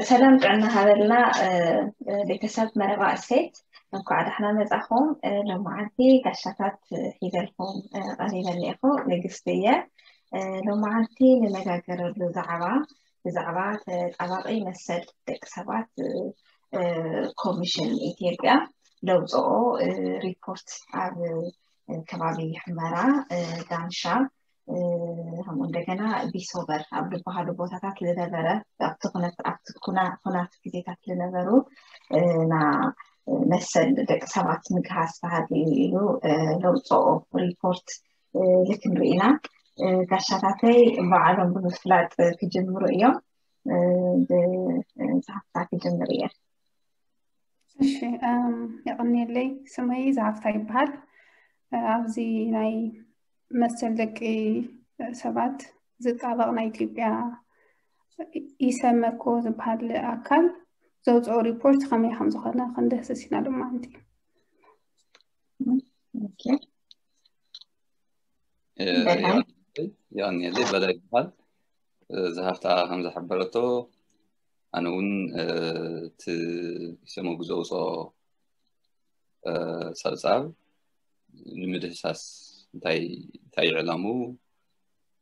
ሰላም ጥዕና ሃበልና። ቤተሰብ መረባ እሴት፣ እንኳዕ ዳሕና መጻኹም። ሎማዓንቲ ጋሻታት ሒዘልኩም ቀሪበ እኒኤኹ። ንግስቲ እየ። ሎማዓንቲ ንነጋገረሉ ዛዕባ ብዛዕባ ተጣባቂ መሰል ደቂ ሰባት ኮሚሽን ኢትዮጵያ ለውፅኦ ሪፖርት ኣብ ከባቢ ሕመራ፣ ዳንሻ፣ ከምኡ እንደገና ቢሶበር ኣብ ዝበሃሉ ቦታታት ዝነበረ ኣብቲ ኩነት ኣብቲ ኩና- ኩናት ግዜታት ዝነበሩ ና መሰል ደቂ ሰባት ምግሃስ ተሃልዩ ኢሉ ለውፅኦ ሪፖርት ልክንርኢ ኢና። ጋሻታተይ ባዕሎም ብምፍላጥ ክጅምሩ እዮም። ብዝሃፍታ ክጅምር እየ። እሺ፣ የቐንየለይ። ስመይ ዝሃፍታ ይበሃል። ኣብዚ ናይ መሰል ደቂ ሰባት ዝጣበቕ ናይ ኢትዮጵያ ኢሰመኮ ዝበሃል ኣካል ዘውፅኦ ሪፖርት ከመይ ከም ዝኾነ ክንድህስስ ኢና ሎማዓንቲ። የቐንየለይ። በላይ ይበሃል። ዝሃፍታ ከም ዝሓበረቶ ኣነ እውን እቲ ኢሰመጉ ዘውፅኦ ፀብፃብ ንምድህሳስ እንታይ እንታይ ዕላሙ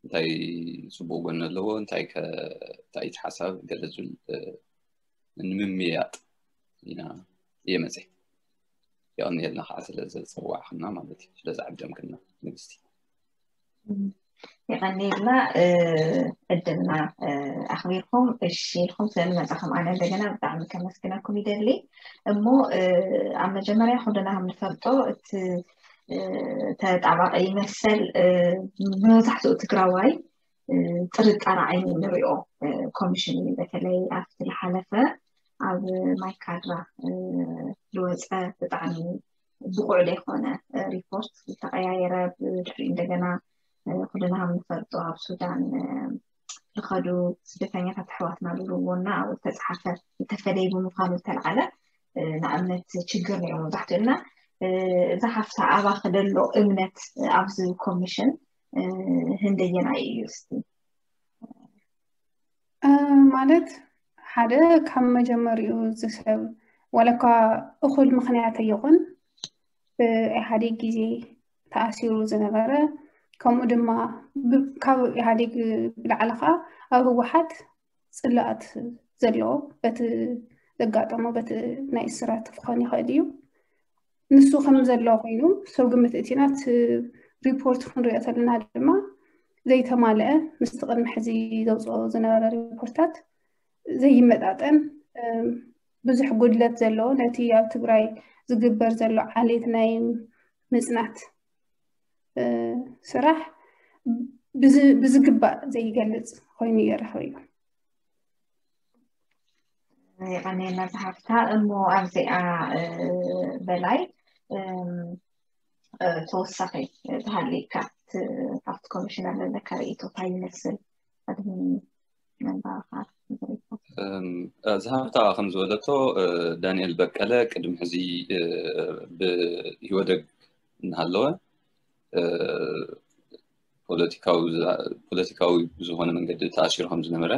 እንታይ ፅቡቅ ጎኒ ኣለዎ እንታይ እንታይ ሓሳብ ገለ ዝብል ንምምያጥ ኢና እየ መፅእ። የቐንየልና ከዓ ስለ ዘፀዋዕክና ማለት እዩ፣ ስለ ዝዓደምክና ንግስቲ። የቐንየልና ዕድልና ኣኽቢርኩም እሺ ኢልኩም ስለዝመፃኹም ኣነ እንደገና ብጣዕሚ ከመስግነኩም ይደሊ። እሞ ኣብ መጀመርያ ኩልና ከም ንፈልጦ እቲ ተጣባቂ መሰል መብዛሕትኡ ትግራዋይ ጥርጣረ ዓይኒ ንሪኦ ኮሚሽን እዩ። በተለይ ኣብቲ ዝሓለፈ ኣብ ማይካድራ ዝወፀ ብጣዕሚ ብቑዕ ዘይኮነ ሪፖርት ዝተቐያየረ ብድሕሪ እንደገና ኩልና ከም ንፈልጦ ኣብ ሱዳን ዝኸዱ ስደተኛታት ኣሕዋትና ዝብልዎ እና ኣብኡ ዝተፅሓፈ ዝተፈለየ ብምዃኑ ዝተልዓለ ንኣብነት ችግር ነይሩ መብዛሕትኡ እና እዛ ሓፍታ ኣባኺ ደሎ እምነት ኣብዚ ኮሚሽን ህንደየናይ እዩ እስቲ? ማለት ሓደ ካብ መጀመሪኡ እዚ ሰብ ዋላ እኳ እኹል ምኽንያት ኣይኹን ብኢህኣዴግ ግዜ ተኣሲሩ ዝነበረ ከምኡ ድማ ካብ ኢህኣዴግ ብላዕሊ ከዓ ኣብ ህወሓት ፅላኣት ዘለዎ በቲ ዘጋጠሞ በቲ ናይ እስራት ክኾን ይኽእል እዩ። ንሱ ከም ዘሎ ኮይኑ ሰብ ግምት እቲና እቲ ሪፖርት ክንሪኦ ተለና ድማ ዘይተማልአ ምስቲ ቅድሚ ሕዚ ዘውፅኦ ዝነበረ ሪፖርታት ዘይመጣጠን ብዙሕ ጉድለት ዘለዎ ነቲ ኣብ ትግራይ ዝግበር ዘሎ ዓሌት ናይ ምፅናት ስራሕ ብዝግባእ ዘይገልፅ ኮይኑ እየ ረኺበዮ። የቐንየልና ዝሃፍታ። እሞ ኣብዚኣ በላይ ተወሳኺ ተሃልዩካ ካብቲ ኮሚሽነር ዘለካ ርእይቶ እንታይ ይመስል? ቅድሚ ምንባብካ ንዝርዝር። ዝሃፍታ ከም ዝበለቶ ዳንኤል በቀለ ቅድሚ ሕዚ ብኢህወደግ እናሃለወ ፖለቲካዊ ብዝኾነ መንገዲ ተኣሲሩ ከም ዝነበረ፣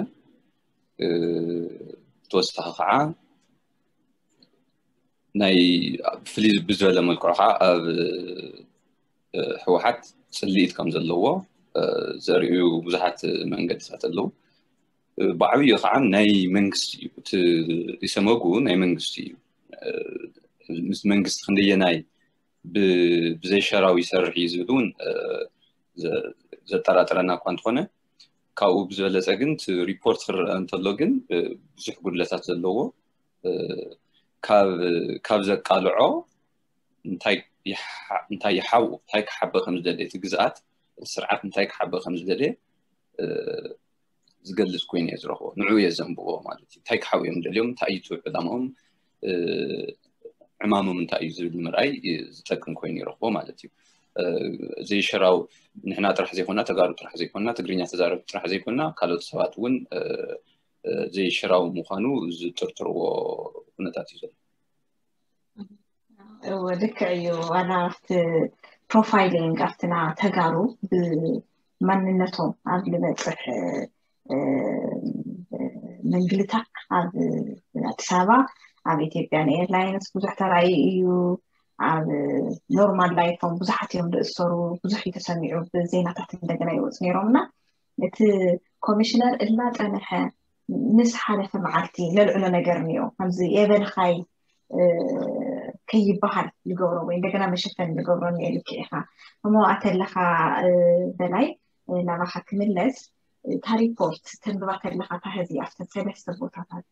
ተወሳኺ ከዓ ናይ ፍልይ ብዝበለ መልክዑ ከዓ ኣብ ህወሓት ፅልኢት ከም ዘለዎ ዘርእዩ ብዙሓት መንገድታት ኣለዉ። ብዓብዩ ከዓ ናይ መንግስቲ እዩ፣ እቲ ኢሰመጉ ናይ መንግስቲ እዩ። ምስ መንግስቲ ክንደየናይ ብዘይሸራዊ ይሰርሕ እዩ ዝብል እውን ዘጠራጥረና እኳ እንተኾነ፣ ካብኡ ብዝበለፀ ግን እቲ ሪፖርት ክረአ እንተሎ ግን ብዙሕ ጉድለታት ዘለዎ፣ ካብ ዘቃልዖ እንታይ ይሓ- እንታይ ይሓው እንታይ ክሓበ ከም ዝደልየ እቲ ግዝኣት እቲ ስርዓት እንታይ ክሓበ ከም ዝደልየ ዝገልፅ ኮይኑ እየ ዝረኽቦ። ንዑ እየ ዘንብቦ ማለት እዩ። እንታይ ክሓው እዮም ደልዮም፣ እንታይ እዩ ዕላማኦም፣ ዕማሞም እንታይ እዩ ዝብል ንምርኣይ ዝጠቅም ኮይኑ ይረኽቦ ማለት እዩ። ዘይሸራው ንሕና ጥራሕ ዘይኮና፣ ተጋሩ ጥራሕ ዘይኮና፣ ትግርኛ ተዛረብቲ ጥራሕ ዘይኮና፣ ካልኦት ሰባት እውን ዘይሸራው ምዃኑ ዝጥርጥርዎ ኩነታት እዩ ዘሎ። እወ ልክዕ እዩ። ዋላ ኣብቲ ፕሮፋይሊንግ ኣብትና ተጋሩ ብማንነቶም ኣብ ልበፅሕ ምንግልታዕ ኣብ ኣዲስ ኣበባ ኣብ ኢትዮጵያን ኤርላይንስ ብዙሕ ተራእዩ እዩ። ኣብ ኖርማል ላይፎም ብዙሓት እዮም ዝእሰሩ፣ ብዙሕ እዩ ተሰሚዑ፣ ብዜናታት እንደገና ይወፁ ነይሮም እና እቲ ኮሚሽነር እናፀንሐ ምስ ሓለፈ መዓልቲ ለልዕሎ ነገር እኒኦ ከምዚ የበልኻይ ከይበሃል ዝገብሮ ወይ እንደገና መሸፈን ዝገብሮ እኒኦ ልክዕ ኢኻ። እሞ ኣተለኻ በላይ ናባኻ ክምለስ እታ ሪፖርት ተንብባ ከለኻ እታ ህዚ ኣብተን ሰለስተ ቦታታት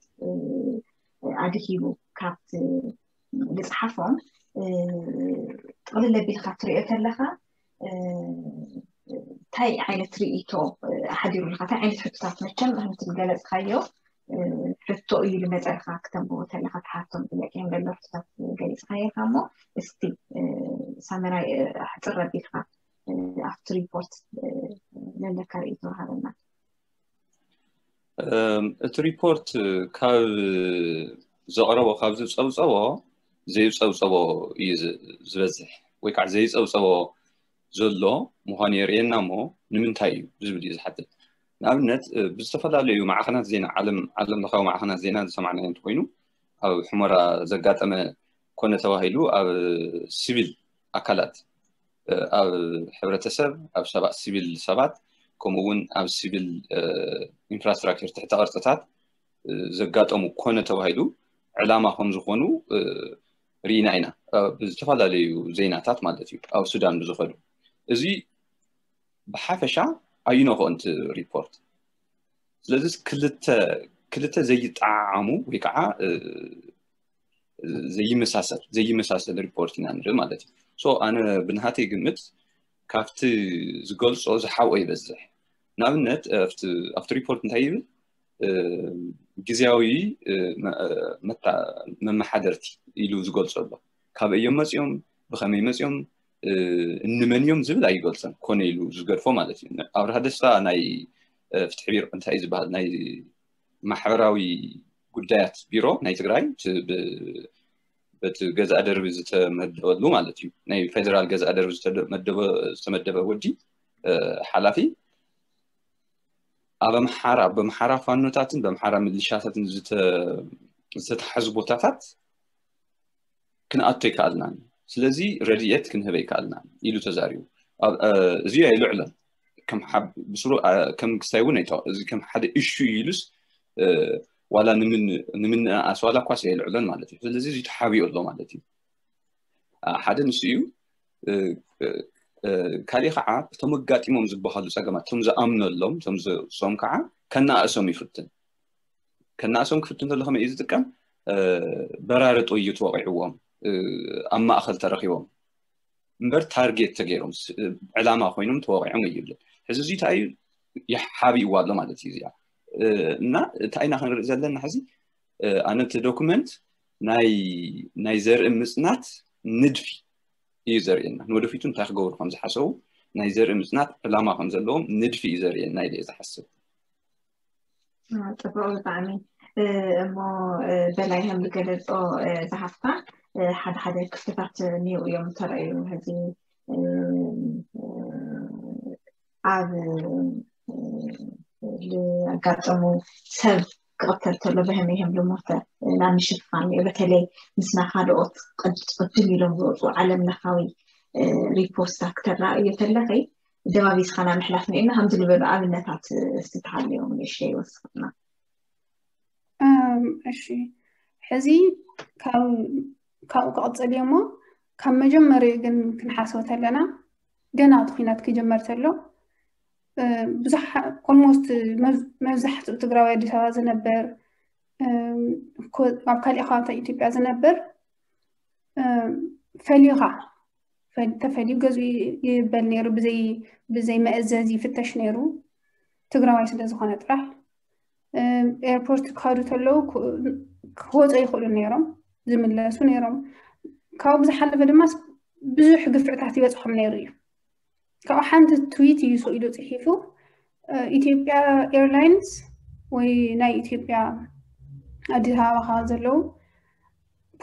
ኣድሂቡ ካብቲ ዝፅሓፎም ጥቕልል ኣቢልካ ትሪኦ ከለኻ እንታይ ዓይነት ርእይቶ ሓዲሩልካ እንታይ ዓይነት ሕቶታት መቸም ከምቲ ዝገለፅካዮ ሕቶ እዩ ዝመፀልካ ክተንብቦ ከለካ ትሓቶም ጥያቄ ከም ዘሎ ሕቶታት ገሊፅካዮ ኢካ እሞ እስቲ ሳመራይ ሕፅር ኣቢልካ ኣብቲ ሪፖርት ዘለካ ርእይቶ ሃበና። እቲ ሪፖርት ካብ ዘቕረቦ ካብ ዝፀብፀቦ ዘይፀብፀቦ እዩ ዝበዝሕ ወይ ከዓ ዘይፀብፀቦ ዘሎ ምዃኑ የርእየና እሞ ንምንታይ እዩ ዝብል እዩ ዝሓትት። ንኣብነት ብዝተፈላለዩ ማዕኸናት ዜና ዓለም ዓለም ለኻዊ ማዕኸናት ዜና ዝሰማዕናዮ እንትኮይኑ ኣብ ሕመራ ዘጋጠመ ኮነ ተባሂሉ ኣብ ሲቪል ኣካላት ኣብ ሕብረተሰብ ኣብ ሰባት ሲቪል ሰባት ከምኡ እውን ኣብ ሲቪል ኢንፍራስትራክቸር ትሕተ ቅርፅታት ዘጋጠሙ ኮነ ተባሂሉ ዕላማ ከም ዝኾኑ ርኢና ኢና ብዝተፈላለዩ ዜናታት ማለት እዩ ኣብ ሱዳን ብዝኸዱ እዚ ብሓፈሻ ኣይኖኸ እንቲ ሪፖርት ስለዚ ክልተ ክልተ ዘይጠዓዓሙ ወይ ከዓ ዘይመሳሰል ዘይመሳሰል ሪፖርት ኢና ንርኢ ማለት እዩ ኣነ ብናሃተይ ግምት ካብቲ ዝገልፆ ዝሓብኦ ይበዝሕ ንኣብነት ኣብቲ ሪፖርት እንታይ ይብል ግዜያዊ መመሓደርቲ ኢሉ ዝገልፆ ኣሎ ካበይ እዮም መፂኦም ብኸመይ መፂኦም እንመን እዮም ዝብል ኣይገልፀን ኮነ ኢሉ ዝገድፎ ማለት እዩ ኣብርሃ ደስታ ናይ ፍትሒ ቢሮ እንታይ እዩ ዝበሃል ናይ ማሕበራዊ ጉዳያት ቢሮ ናይ ትግራይ በቲ ገዛእ ደርቢ ዝተመደበሉ ማለት እዩ ናይ ፌደራል ገዛእ ደርቢ ዝተመደበ ወዲ ሓላፊ ኣብ ኣምሓራ በምሓራ ፋኖታትን በምሓራ ምልሻታትን ዝተተሓዙ ቦታታት ክንኣቶ ይከኣልናን ስለዚ ረድኤት ክንህበ ይከኣልናን ኢሉ ተዛሪቡ እዚ ኣይልዕሎን ብስሩ ከም ክስታይ እውን እዚ ከም ሓደ እሹ እዩ ኢሉስ ዋላ ንምንኣስ ዋላ እኳ የልዕሎን ማለት እዩ ስለዚ እዚ ተሓቢኡ ኣሎ ማለት እዩ ሓደ ንሱ እዩ ካሊእ ከዓ እቶም ኣጋጢሞም ዝበሃሉ ፀገማት እቶም ዝኣምነሎም እቶም ዝሶም ከዓ ከነኣእሶም ይፍትን ከነኣእሶም ክፍትን ዘሎ ከመይ እዩ ዝጥቀም በራሪ ጥይት ወቂዕዎም ኣብ ማእኸል ተረኪቦም እምበር ታርጌት ተገይሮም ዕላማ ኮይኖም ተወቂዖም እዩ ሕዚ እዚ እንታይ እዩ ሓቢእዋ ኣሎ ማለት እዩ እዚኣ እና እንታይ ኢና ክንርኢ ዘለና ሕዚ ኣነ እቲ ዶክመንት ናይ ዘርኢ ምፅናት ንድፊ እዩ ዘርእየና ንወደፊቱ እንታይ ክገብሩ ከም ዝሓሰቡ ናይ ዘርኢ ምፅናት ዕላማ ከም ዘለዎም ንድፊ እዩ ዘርእየና ኢለ ዝሓስብ ፅቡቅ ብጣዕሚ እሞ በላይ ከም ዝገለፆ ዝሓፍታ ሓደ ሓደ ክፍተታት እኒው እዮም ተረእዩ ሕዚ ኣብ ዝኣጋጠሙ ሰብ ክቕተል ተሎ ብህመይ ከም ልሞተ ናብ ምሽፋን እዩ በተለይ ምስና ካልኦት ቅድም ኢሎም ዝወፁ ዓለም ለኻዊ ሪፖርትታት ክተረኣእዮ ተለኸይ ደባቢስካ ናብ ምሕላፍ ንእና ከምዚ ዝበሉ ኣብነታት ዝተሃለዮም ንእሽተይ ይወስኽና እሺ ሕዚ ካብኡ ክቕፅል እዮ እሞ ካብ መጀመሪኡ ግን ክንሓስቦ ተለና ገና እቲ ኩናት ክጀመር ተሎ ብዙሕ almost መብዛሕትኡ ትግራዊ ኣዲስ ኣበባ ዝነበር ኣብ ካሊእ ከባብታት ኢትዮጵያ ዝነበር ፈሊኻ ተፈልዩ ገዝኡ ይበል ነይሩ ብዘይ መእዘዝ ይፍተሽ ነይሩ ትግራዋይ ስለ ዝኾነ ጥራሕ ኤርፖርት ክኸዱ ተለዉ ክወፁ ይኽእሉ ነይሮም ዝምለሱ ነይሮም ካብኡ ብዝሓለፈ ድማ ብዙሕ ግፍዕታት ይበፅሖም ነይሩ እዩ ካብኡ ሓንቲ ትዊት እዩ ኢሉ ፅሒፉ ኢትዮጵያ ኤርላይንስ ወይ ናይ ኢትዮጵያ ኣዲስ ኣበባ ዘለዉ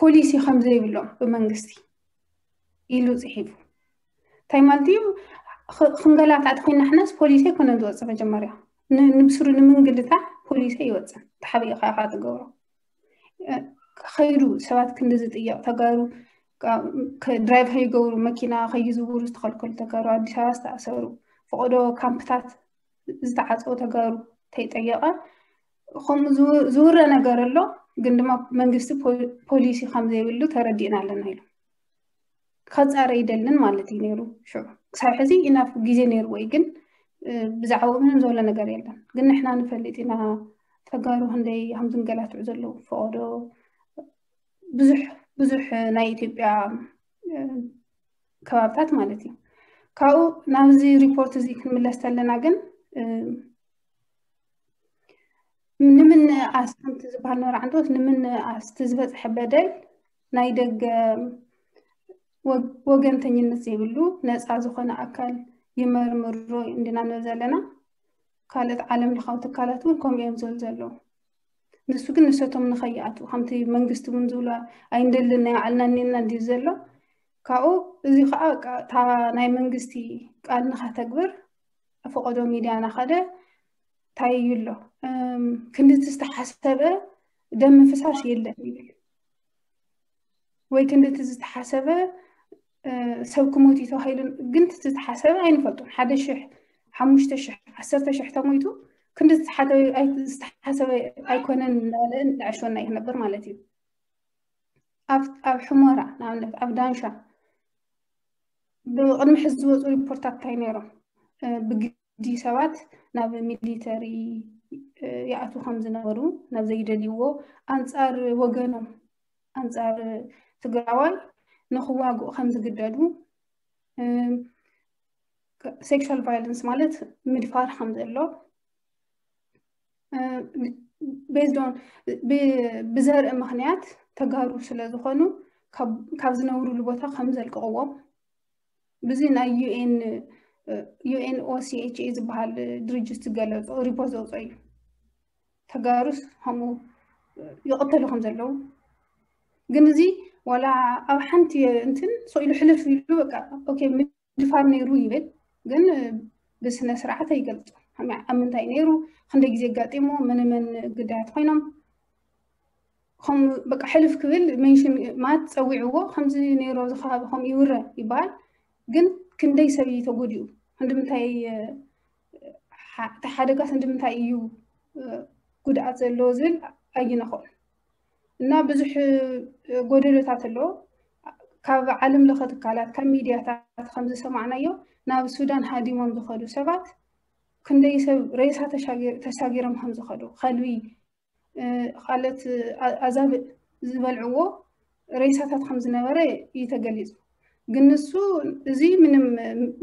ፖሊሲ ከም ዘይብሎም ብመንግስቲ ኢሉ ፅሒፉ እንታይ ማለት እዩ ክንገላታዕ ተኮይና ሕናስ ፖሊሲ ኣይኮነን ዝወፅእ መጀመርያ ንብስሩ ንምንግልታዕ ፖሊሲ ኣይወፅን። ተሓቢእካ ኢኻ ትገብሮ። ከይዱ ሰባት ክንዲ ዝጥየቕ፣ ተጋሩ ድራይቭ ከይገብሩ፣ መኪና ከይዝውሩ ዝተኸልከሉ ተጋሩ ኣዲስ ኣበባ ዝተኣሰሩ፣ ፈቐዶ ካምፕታት ዝተዓፀው ተጋሩ ተይጠየቐ፣ ከምኡ ዝውረ ነገር ኣሎ። ግን ድማ መንግስቲ ፖሊሲ ከም ዘይብሉ ተረዲእና ኣለና ኢሉ ከፃረ ይደልን ማለት እዩ ነይሩ። ሽዑ ክሳብ ሕዚ ኢናፍ ግዜ ነይርዎ እዩ፣ ግን ብዛዕባኡ ምንም ዘሎ ነገር የለን። ግን ንሕና ንፈልጥ ኢና ተጋሩ ክንደይ ከም ዝንገላትዑ ዘለዉ፣ ፈቐዶ ብዙሕ ብዙሕ ናይ ኢትዮጵያ ከባብታት ማለት እዩ። ካብኡ ናብዚ ሪፖርት እዚ ክንምለስ ተለና ግን ንምንኣስ ከምቲ ዝበሃል ነበረ ዓንቶት ንምንኣስ እቲ ዝበፅሐ በደል ናይ ደገ ወገንተኝነት ዘይብሉ ነፃ ዝኾነ ኣካል ይመርምሮ እንዲና ንብል ዘለና። ካልኦት ዓለም ለኻዊ ትካላት እውን ከምኡ እዮም ዝብል ዘለዉ። ንሱ ግን ንሰቶም ንኸይኣትዉ ከምቲ መንግስቲ እውን ዝብሎ ኣይንደልን፣ ናይ ባዕልና እኒና እንዲ ዘሎ። ካብኡ እዚ ከዓ እታ ናይ መንግስቲ ቃል ንኸተግብር ፈቐዶ ሚድያ ናኸደ እንታይ እዩ ኣሎ ክንድቲ ዝተሓሰበ ደም ምፍሳስ የለን ይብል። ወይ ክንድቲ ዝተሓሰበ ሰብ ክሞት እዩ ተባሂሉ ግን ዝተሓሰበ ኣይንፈልጡን። ሓደ ሽሕ፣ ሓሙሽተ ሽሕ፣ ዓሰርተ ሽሕ ተሞይቱ ክንዲ ዝተሓሰበ ኣይኮነን እናበለ ንዕሾና እዩ ክነብር ማለት እዩ። ኣብ ሕሞራ ንኣብነት ኣብ ዳንሻ ብቕድሚ ሕዚ ዝወፁ ሪፖርታት እንታይ ነይሮም? ብግዲ ሰባት ናብ ሚሊተሪ ይኣትዉ ከም ዝነበሩ፣ ናብ ዘይደልይዎ፣ ኣንፃር ወገኖም፣ ኣንፃር ትግራዋይ ንክዋግኡ ከም ዝግደዱ፣ ሴክሹዋል ቫይለንስ ማለት ምድፋር ከም ዘሎ፣ ቤዝድ ኦን ብዘርኢ ምክንያት ተጋሩ ስለ ዝኾኑ ካብ ዝነብሩሉ ቦታ ከም ዘልቅቕዎም ብዚ ናይ ዩኤን ዩኤንኦሲኤችኤ ዝበሃል ድርጅት ዝገለፆ ሪፖርት ዘውፅኦ እዩ። ተጋሩስ ከምኡ ይቕተሉ ከም ዘለዉ ግን እዚ ዋላ ኣብ ሓንቲ እንትን ሰው ኢሉ ሕልፍ ኢሉ በቃ ኦኬ ምድፋር ነይሩ ይብል፣ ግን ብስነ ስርዓት ኣይገልፆ። ኣብ ምንታይ ነይሩ፣ ክንደይ ግዜ ኣጋጢሞ፣ መን መን ግዳያት ኮይኖም ከም በቃ ሕልፍ ክብል ሜንሽን ማለት ፀዊዕዎ ከምዚ ነይሩ ኣብዚ ከባቢ ከምኡ ይውረ ይበሃል። ግን ክንደይ ሰብ እዩ ተጎዲኡ፣ ክንዲ ምንታይ እቲ ሓደጋስ እንዲ ምንታይ እዩ ጉድኣት ዘለዎ ዝብል ኣይነኾን እና ብዙሕ ጎደሎታት ኣሎ። ካብ ዓለም ለኸ ትካላት ካብ ሚድያታት ከም ዝሰማዕናዮ ናብ ሱዳን ሃዲሞም ዝኸዱ ሰባት ክንደይ ሰብ ሬሳ ተሻጊሮም ከም ዝኸዱ ከልቢ ካልኦት ኣዛብእ ዝበልዕዎ ሬሳታት ከም ዝነበረ እዩ ተገሊፁ። ግን ንሱ እዚ ምንም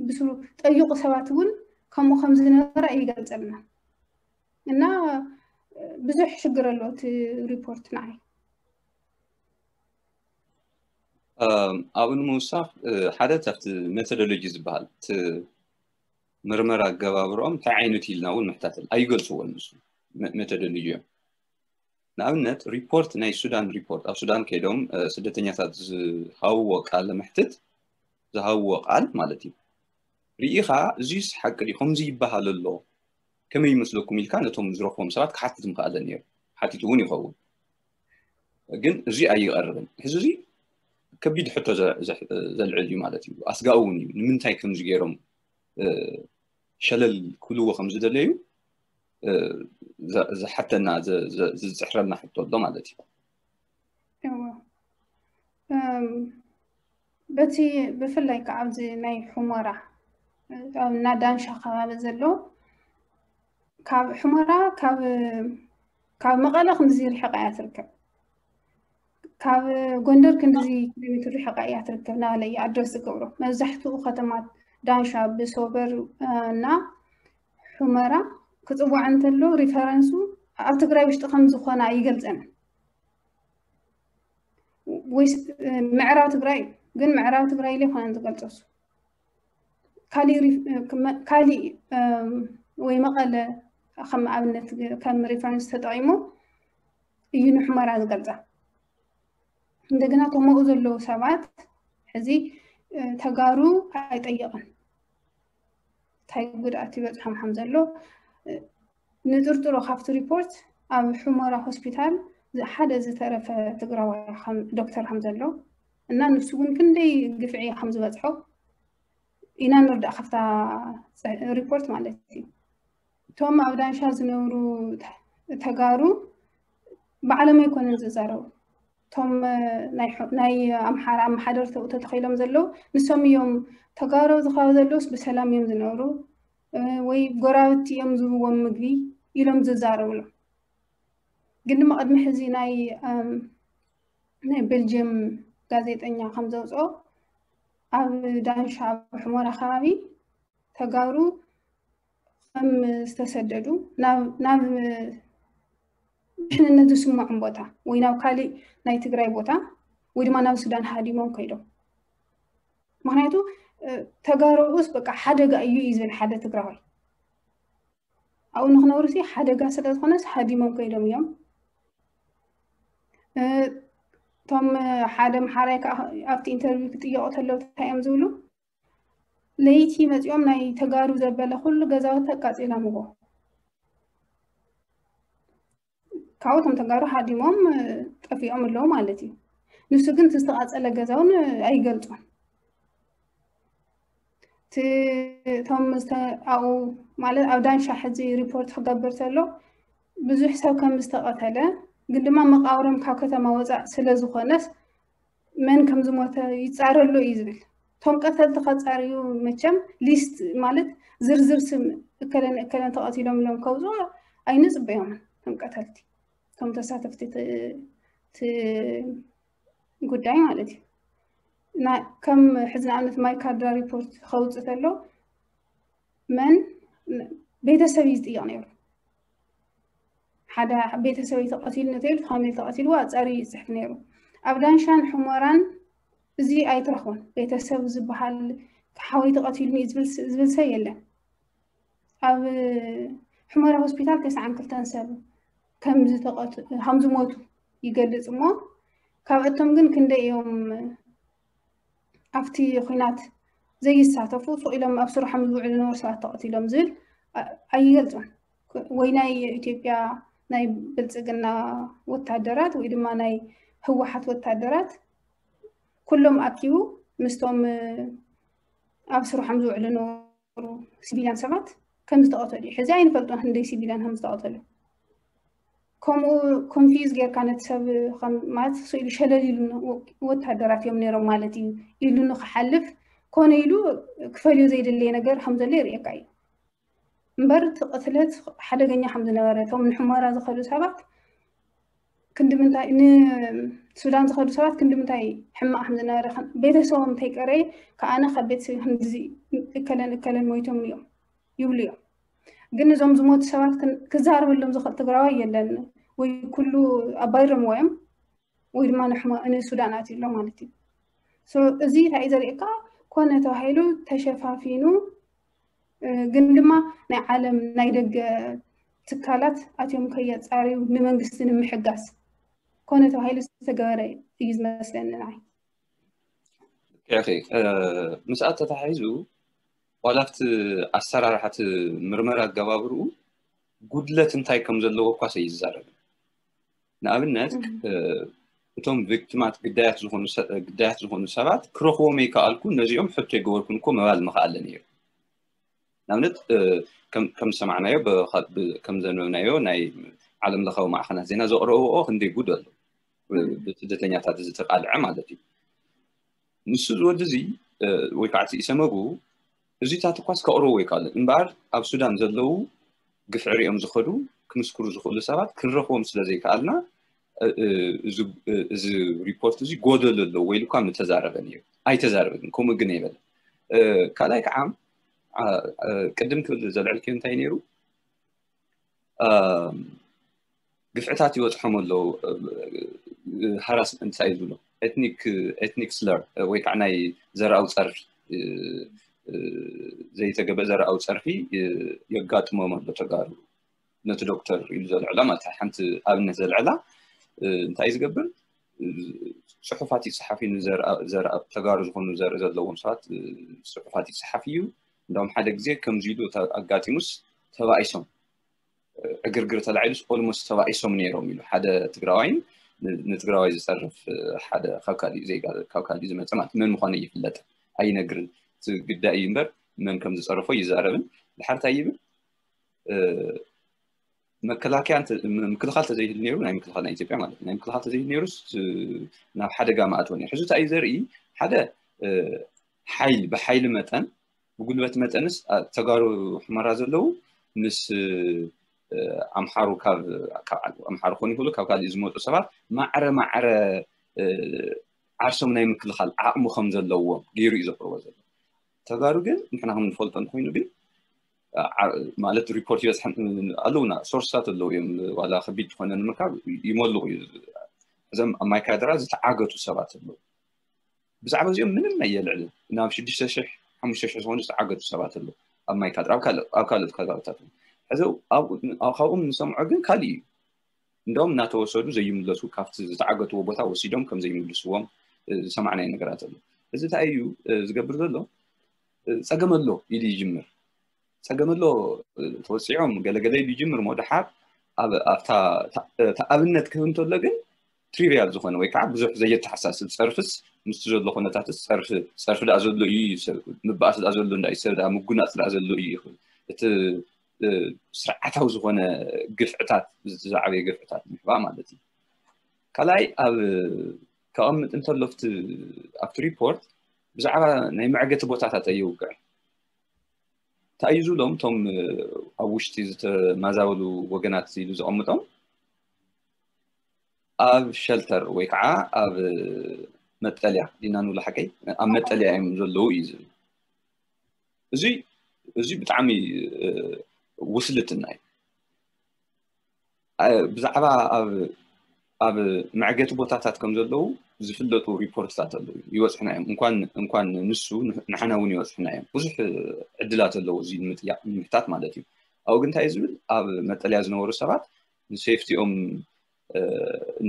ብስሩ ጠይቁ ሰባት እውን ከምኡ ከም ዝነበረ ኣይገልፀልና እና ብዙሕ ሽግር ኣለዎ እቲ ሪፖርት ንዓይ። ኣብኡ ንምውሳኽ ሓደ ካብቲ ሜቶዶሎጂ ዝበሃል እቲ ምርመራ ኣገባብርኦም እንታይ ዓይነት ኢልና እውን ምሕታተል ኣይገልፅዎን። ንሱ ሜቶዶሎጂ እዮም። ንኣብነት ሪፖርት ናይ ሱዳን ሪፖርት ኣብ ሱዳን ከይዶም ስደተኛታት ዝሃብዎ ቃለ መሕትት ዝሃብዎ ቃል ማለት እዩ። ርኢኻ እዚስ ሓቂ ድዩ ከምዚ ይበሃል ኣሎ ከመይ ይመስለኩም ኢልካ ነቶም ዝረኽቦም ሰባት ክሓትት ምኽኣለ ነይሩ። ሓቲቱ እውን ይኸውን። ግን እዚ ኣይቐርብን። ሕዚ እዚ ከቢድ ሕቶ ዘልዕል እዩ ማለት እዩ። ኣስጋኡ እውን እዩ። ንምንታይ ከምዚ ገይሮም ሸለል ክብልዎ ከም ዝደለዩ ዝሓተና ዝፅሕረና ሕቶ ኣሎ ማለት እዩ። በቲ ብፍላይ ከዓ ኣብዚ ናይ ሑመራ እና ዳንሻ ከባቢ ዘሎ ካብ ሑመራ ካብ መቐለ ክንድዚ ርሒቓ እያ ትርከብ። ካብ ጎንደር ክንድዚ ኪሎ ሜትር ርሒቓ እያ ትርከብ እናበለ እዩ ኣድረስ ዝገብሮ። መብዛሕትኡ ከተማ ዳንሻ ብሶበር እና ሑመራ ክፅዋዕ እንተሎ ሪፈረንሱ ኣብ ትግራይ ውሽጢ ከም ዝኾነ ኣይገልፀንን። ወይ ምዕራብ ትግራይ ግን ምዕራብ ትግራይ ኢለ ይኮነን ዝገልፆ እሱ ካሊእ ወይ መቐለ ከም ኣብነት ከም ሪፈረንስ ተጠቂሙ እዩ ንሑመራ ዝገልፃ። እንደገና ተመኡ ዘለዉ ሰባት ሕዚ ተጋሩ ኣይጠየቕን እንታይ ጉድኣት ይበፅሖም ከም ዘሎ ንጥርጥሮ ካብቲ ሪፖርት ኣብ ሑመራ ሆስፒታል ሓደ ዝተረፈ ትግራዋይ ዶክተር ከም ዘሎ እና ንሱ እውን ክንደይ ግፍዒ ከም ዝበፅሖ ኢና ንርዳእ ካብታ ሪፖርት ማለት እዩ። እቶም ኣብ ዳንሻ ዝነብሩ ተጋሩ ባዕሎም ኣይኮነን ዝዛረቡ። እቶም ናይ ኣምሓራ ኣመሓደርቲ ተተኺሎም ዘለዉ ንሶም እዮም። ተጋሩ ዝኸባቢ ዘለውስ ብሰላም እዮም ዝነብሩ ወይ ጎራብቲ እዮም ዝህብዎም ምግቢ ኢሎም ዝዛረብሎም። ግን ድማ ቅድሚ ሕዚ ናይ ናይ ቤልጅየም ጋዜጠኛ ከም ዘውፅኦ ኣብ ዳንሻ ኣብ ሑመራ ከባቢ ተጋሩ ከም ዝተሰደዱ ናብ ድሕንነት ዝስምዖም ቦታ ወይ ናብ ካሊእ ናይ ትግራይ ቦታ ወይ ድማ ናብ ሱዳን ሃዲሞም ከይዶም። ምክንያቱ ተጋሩኡስ በቃ ሓደጋ እዩ እዩ ዝብል ሓደ ትግራዋይ ኣብኡ ንክነብሩ ሲ ሓደጋ ስለ ዝኾነስ ሃዲሞም ከይዶም እዮም። እቶም ሓደ ኣምሓራይ ከዓ ኣብቲ ኢንተርቪው ክጥየቁ ተለው እንታይ እዮም ዝብሉ? ለይቲ መፂኦም ናይ ተጋሩ ዘበለ ኩሉ ገዛውቲ ኣቃፂሎምዎ። ካብኡ እቶም ተጋሩ ሃዲሞም ጠፊኦም ኣለዉ ማለት እዩ። ንሱ ግን እቲ ዝተቃፀለ ገዛ እውን ኣይገልፆን። እቶም ኣብኡ ማለት ኣብ ዳንሻ ሕዚ ሪፖርት ክገብር ተሎ ብዙሕ ሰብ ከም ዝተቐተለ ግን ድማ መቃብሮም ካብ ከተማ ወፃእ ስለ ዝኾነስ መን ከም ዝሞተ ይፃረሉ እዩ ዝብል። እቶም ቀተልቲ ከፃርዩ መቸም ሊስት ማለት ዝርዝር ስም እከለን እከለን ተቐቲሎም ኢሎም ከውፅኡ ኣይንፅበዮምን። እቶም ቀተልቲ እቶም ተሳተፍቲ ጉዳይ ማለት እዩ። ከም ሕዚ ንኣብነት ማይካድራ ሪፖርት ከውፅእ ተሎ መን ቤተሰብ እዩ ዝጥየቕ ነይሩ። ሓደ ቤተሰብ ተቐቲሉ ነተይሉ ፋሚሊ ተቐቲልዎ ኣፃሪ ይፅሕፍ ነይሩ። ኣብ ዳንሻን ሑመራን እዚ ኣይትረኽቦን። ቤተሰብ ዝበሃል ሓወይ ተቐቲሉኒ ዝብል ሰብ የለን። ኣብ ሑመራ ሆስፒታል ተስዓን ክልተን ሰብ ከም ዝሞቱ ይገልጽ እሞ ካብኣቶም ግን ክንደይ እዮም ኣብቲ ኹናት ዘይሳተፉ ሱቕ ኢሎም ኣብ ስርሖም ዝውዕሉ ዝነበሩ ሰባት ተቐቲሎም ዝብል ኣይገልጹን። ወይ ናይ ኢትዮጵያ ናይ ብልጽግና ወታደራት ወይ ድማ ናይ ህወሓት ወታደራት ኩሎም ኣኪቡ ምስቶም ኣብ ስርሖም ዝውዕሉ ዝነበሩ ሲቪልያን ሰባት ከም ዝተቐተሉ እዩ። ሕዚ ኣይንፈልጦን ክንደይ ሲቪልያን ከም ዝተቐተሉ። ከምኡ ኮንፊውዝ ጌርካ ነቲ ሰብ ማለት ስኢሉ ሸለል ኢሉ ወታደራት እዮም ነይሮም ማለት እዩ ኢሉ ንክሓልፍ ኮነ ኢሉ ክፈልዮ ዘይደለየ ነገር ከም ዘሎ የርእየካ እዩ። እምበር እቲ ቅትለት ሓደገኛ ከም ዝነበረ እቶም ንሑመራ ዝኸዱ ሰባት ክንዲ ምንታይ ንሱዳን ዝኸዱ ሰባት ክንዲ ምንታይ ሕማቕ ከም ዝነበረ ቤተሰቦም እንተይቀረየ ከኣነ ካብ ቤተሰብ ክንዲዚ እከለን እከለን ሞይቶም እዮም ይብሉ እዮም። ግን እዞም ዝሞቱ ሰባት ክዛረበሎም ዝኽእል ትግራዋይ የለን ወይ ኩሉ ኣባይሮምዎ እዮም ወይ ድማ ንሱዳን ኣትዩ ኣሎ ማለት እዩ። እዚ እንታይ እዩ ዘርእየካ? ኮነ ተባሂሉ ተሸፋፊኑ ግን ድማ ናይ ዓለም ናይ ደገ ትካላት ኣትዮም ከየፃርዩ ንመንግስቲ ንምሕጋዝ ኮነ ተባሂሉ ዝተገበረ እዩ ዝመስለኒ ንዓይ። ምስኣ ተታሒዙ ዋላ ኣብቲ ኣሰራርሓ እቲ ምርመራ ኣገባብርኡ ጉድለት እንታይ ከም ዘለዎ እኳ ኣይዛረብን። ንኣብነት እቶም ቪክቲማት ግዳያት ዝኾኑ ግዳያት ዝኾኑ ሰባት ክረኽቦም ኣይከኣልኩ ነዚኦም ሕቶ ኣይገበርኩን እኮ ምባል ምኽኣለ ነይሩ። ንኣብነት ከም ዝሰማዕናዮ ከም ዘንበብናዮ ናይ ዓለም ለኻዊ ማዕኸናት ዜና ዘቕረብኦ ክንደይ ጉድ ኣሎ ብስደተኛታት ዝተቃልዐ ማለት እዩ። ንሱ ዝወዲ እዚ ወይ ከዓ እቲ ኢሰመጉ እዚታት እኳስ ከቕርቡ ኣይከኣሉን እምበኣር ኣብ ሱዳን ዘለዉ ግፍዒ ሪኦም ዝኸዱ ክምስክሩ ዝኽእሉ ሰባት ክንረኽቦም ስለ ዘይከኣልና እዚ ሪፖርት እዚ ጎደሎ ኣለዎ ወይ ኢሉ እኳ ምተዛረበ ነይሩ። ኣይተዛረበን ከምኡ ግን ኣይበለን። ካልኣይ ከዓ ቅድም ክብል ዘልዐልክዮ እንታይ ነይሩ ግፍዕታት ይበፅሖም ኣለዉ። ሃራስመንት እንታይ ዝብሎ ኤትኒክ ስለር ወይ ከዓ ናይ ዘርኣዊ ፀርፊ ዘይተገበ ዘርኣዊ ፀርፊ የጋጥሞም ኣሎ ተጋሩ ነቲ ዶክተር ኢሉ ዘልዕላ ማለት ሓንቲ ኣብነት ዘልዕላ እንታይ ዝገብር ፅሑፋት ይፅሓፍ እዩ። ተጋሩ ዝኾኑ ዘርኢ ዘለዎም ሰባት ፅሑፋት ይፅሓፍ እዩ። እንዳውም ሓደ ግዜ ከምዚ ኢሉ ኣጋጢሙስ ተባኢሶም ዕግርግር ተላዒሉስ ኦልሞስት ተባኢሶም ነይሮም ኢሉ ሓደ ትግራዋይን ንትግራዋይ ዝፀርፍ ሓደ ካብ ካሊእ ዜጋ ካብ ካሊእ ዝመፀ ማለት መን ምኳኑ ይፍለጥ ኣይነግርን ግዳይ እዩ እምበር መን ከም ዝፀረፎ ይዛረብን ድሓር እንታይ ይብል መከላከያ ምክልኻል ተዘይህል ነይሩ ናይ ምክልኻል ናይ ኢትዮጵያ ማለት ናይ ምክልኻል ተዘይህል ነይሩስ ናብ ሓደጋ ማእትወ ነይሩ ሕዚ እንታይ እዩ ዘርኢ ሓደ ሓይል ብሓይሊ መጠን ብጉልበት መጠንስ ተጋሩ ሕመራ ዘለዉ ምስ ኣምሓሩ ካብ ኣምሓሩ ኮን ይኽእሉ ካብ ካልእ ዝመፁ ሰባት ማዕረ ማዕረ ዓርሶም ናይ ምክልኻል ዓቕሚ ከም ዘለዎም ገይሩ እዩ ዘቕርቦ ዘሎ ተጋሩ ግን ንሕና ከም ንፈልጦ እንኮይኑ ግን ማለት ሪፖርት ይበፅሐን ኣለውና ሶርስታት ኣለዉ እዮም ዋላ ከቢድ ዝኾነ ንምርካብ ይመልቑ እዩ እዞም ኣብ ማይካድራ ዝተዓገቱ ሰባት ኣለዉ ብዛዕባ እዚኦም ምንም ኣየልዕልን ናብ ሽዱሽተ ሽሕ ሓሙሽተ ሽሕ ዝኾኑ ዝተዓገቱ ሰባት ኣለዉ ኣብ ማይካድራ ኣብ ካልኦት ከባብታት ሕዚ ካብኦም ንሰምዖ ግን ካልእ እዩ እንደም እናተወሰዱ ዘይምለሱ ካብቲ ዝተዓገትዎ ቦታ ወሲዶም ከም ዘይምልስዎም ዝሰማዕናዮ ነገራት ኣሎ እዚ እንታይ እዩ ዝገብር ዘሎ ፀገም ኣሎ ኢሉ ይጅምር ፀገም ኣሎ ተወፂዖም ገለገለ ኢሉ ይጅምር ሞ ድሓር ኣብታ ኣብነት ክህብ እንተሎ ግን ትሪቪያል ዝኾነ ወይ ከዓ ብዙሕ ዘየተሓሳስብ ፀርፍስ ምስቲ ዘሎ ኩነታትስ ፀርፊ ፀርፊ ዳ ዘሎ እዩ ምባኣስ ዳ ዘሎ እንዳ ሰብ ዳ ምጉናፅ ዳ ዘሎ እዩ ይኽእል እቲ ስርዓታዊ ዝኾነ ግፍዕታት ዝዓበየ ግፍዕታት ምሕባ ማለት እዩ ካልኣይ ኣብ ከቐምጥ እንተሎ ኣብቲ ሪፖርት ብዛዕባ ናይ መዕገቲ ቦታታት ኣይውግዕን እንታይ እዩ ዝብሎም እቶም ኣብ ውሽጢ ዝተማዛበሉ ወገናት ኢሉ ዘቐምጦም ኣብ ሸልተር ወይ ከዓ ኣብ መጠልያ ዲና ንብሎ ሓቀይ ኣብ መጠልያ እዮም ዘለዉ እዩ ዝብል እዚ እዚ ብጣዕሚ ውስልትና እዩ ብዛዕባ ኣብ ኣብ መዕገቲ ቦታታት ከም ዘለዉ ዝፍለጡ ሪፖርትታት ኣለዉ ይበፅሕና እዮም እንኳን እንኳን ንሱ ንሕና እውን ይበፅሕና እዮም ብዙሕ ዕድላት ኣለዉ እዚ ንምጥያቅ ንምሕታት ማለት እዩ ኣብኡ ግን እንታይ ዝብል ኣብ መጠለያ ዝነበሩ ሰባት ንሴፍቲኦም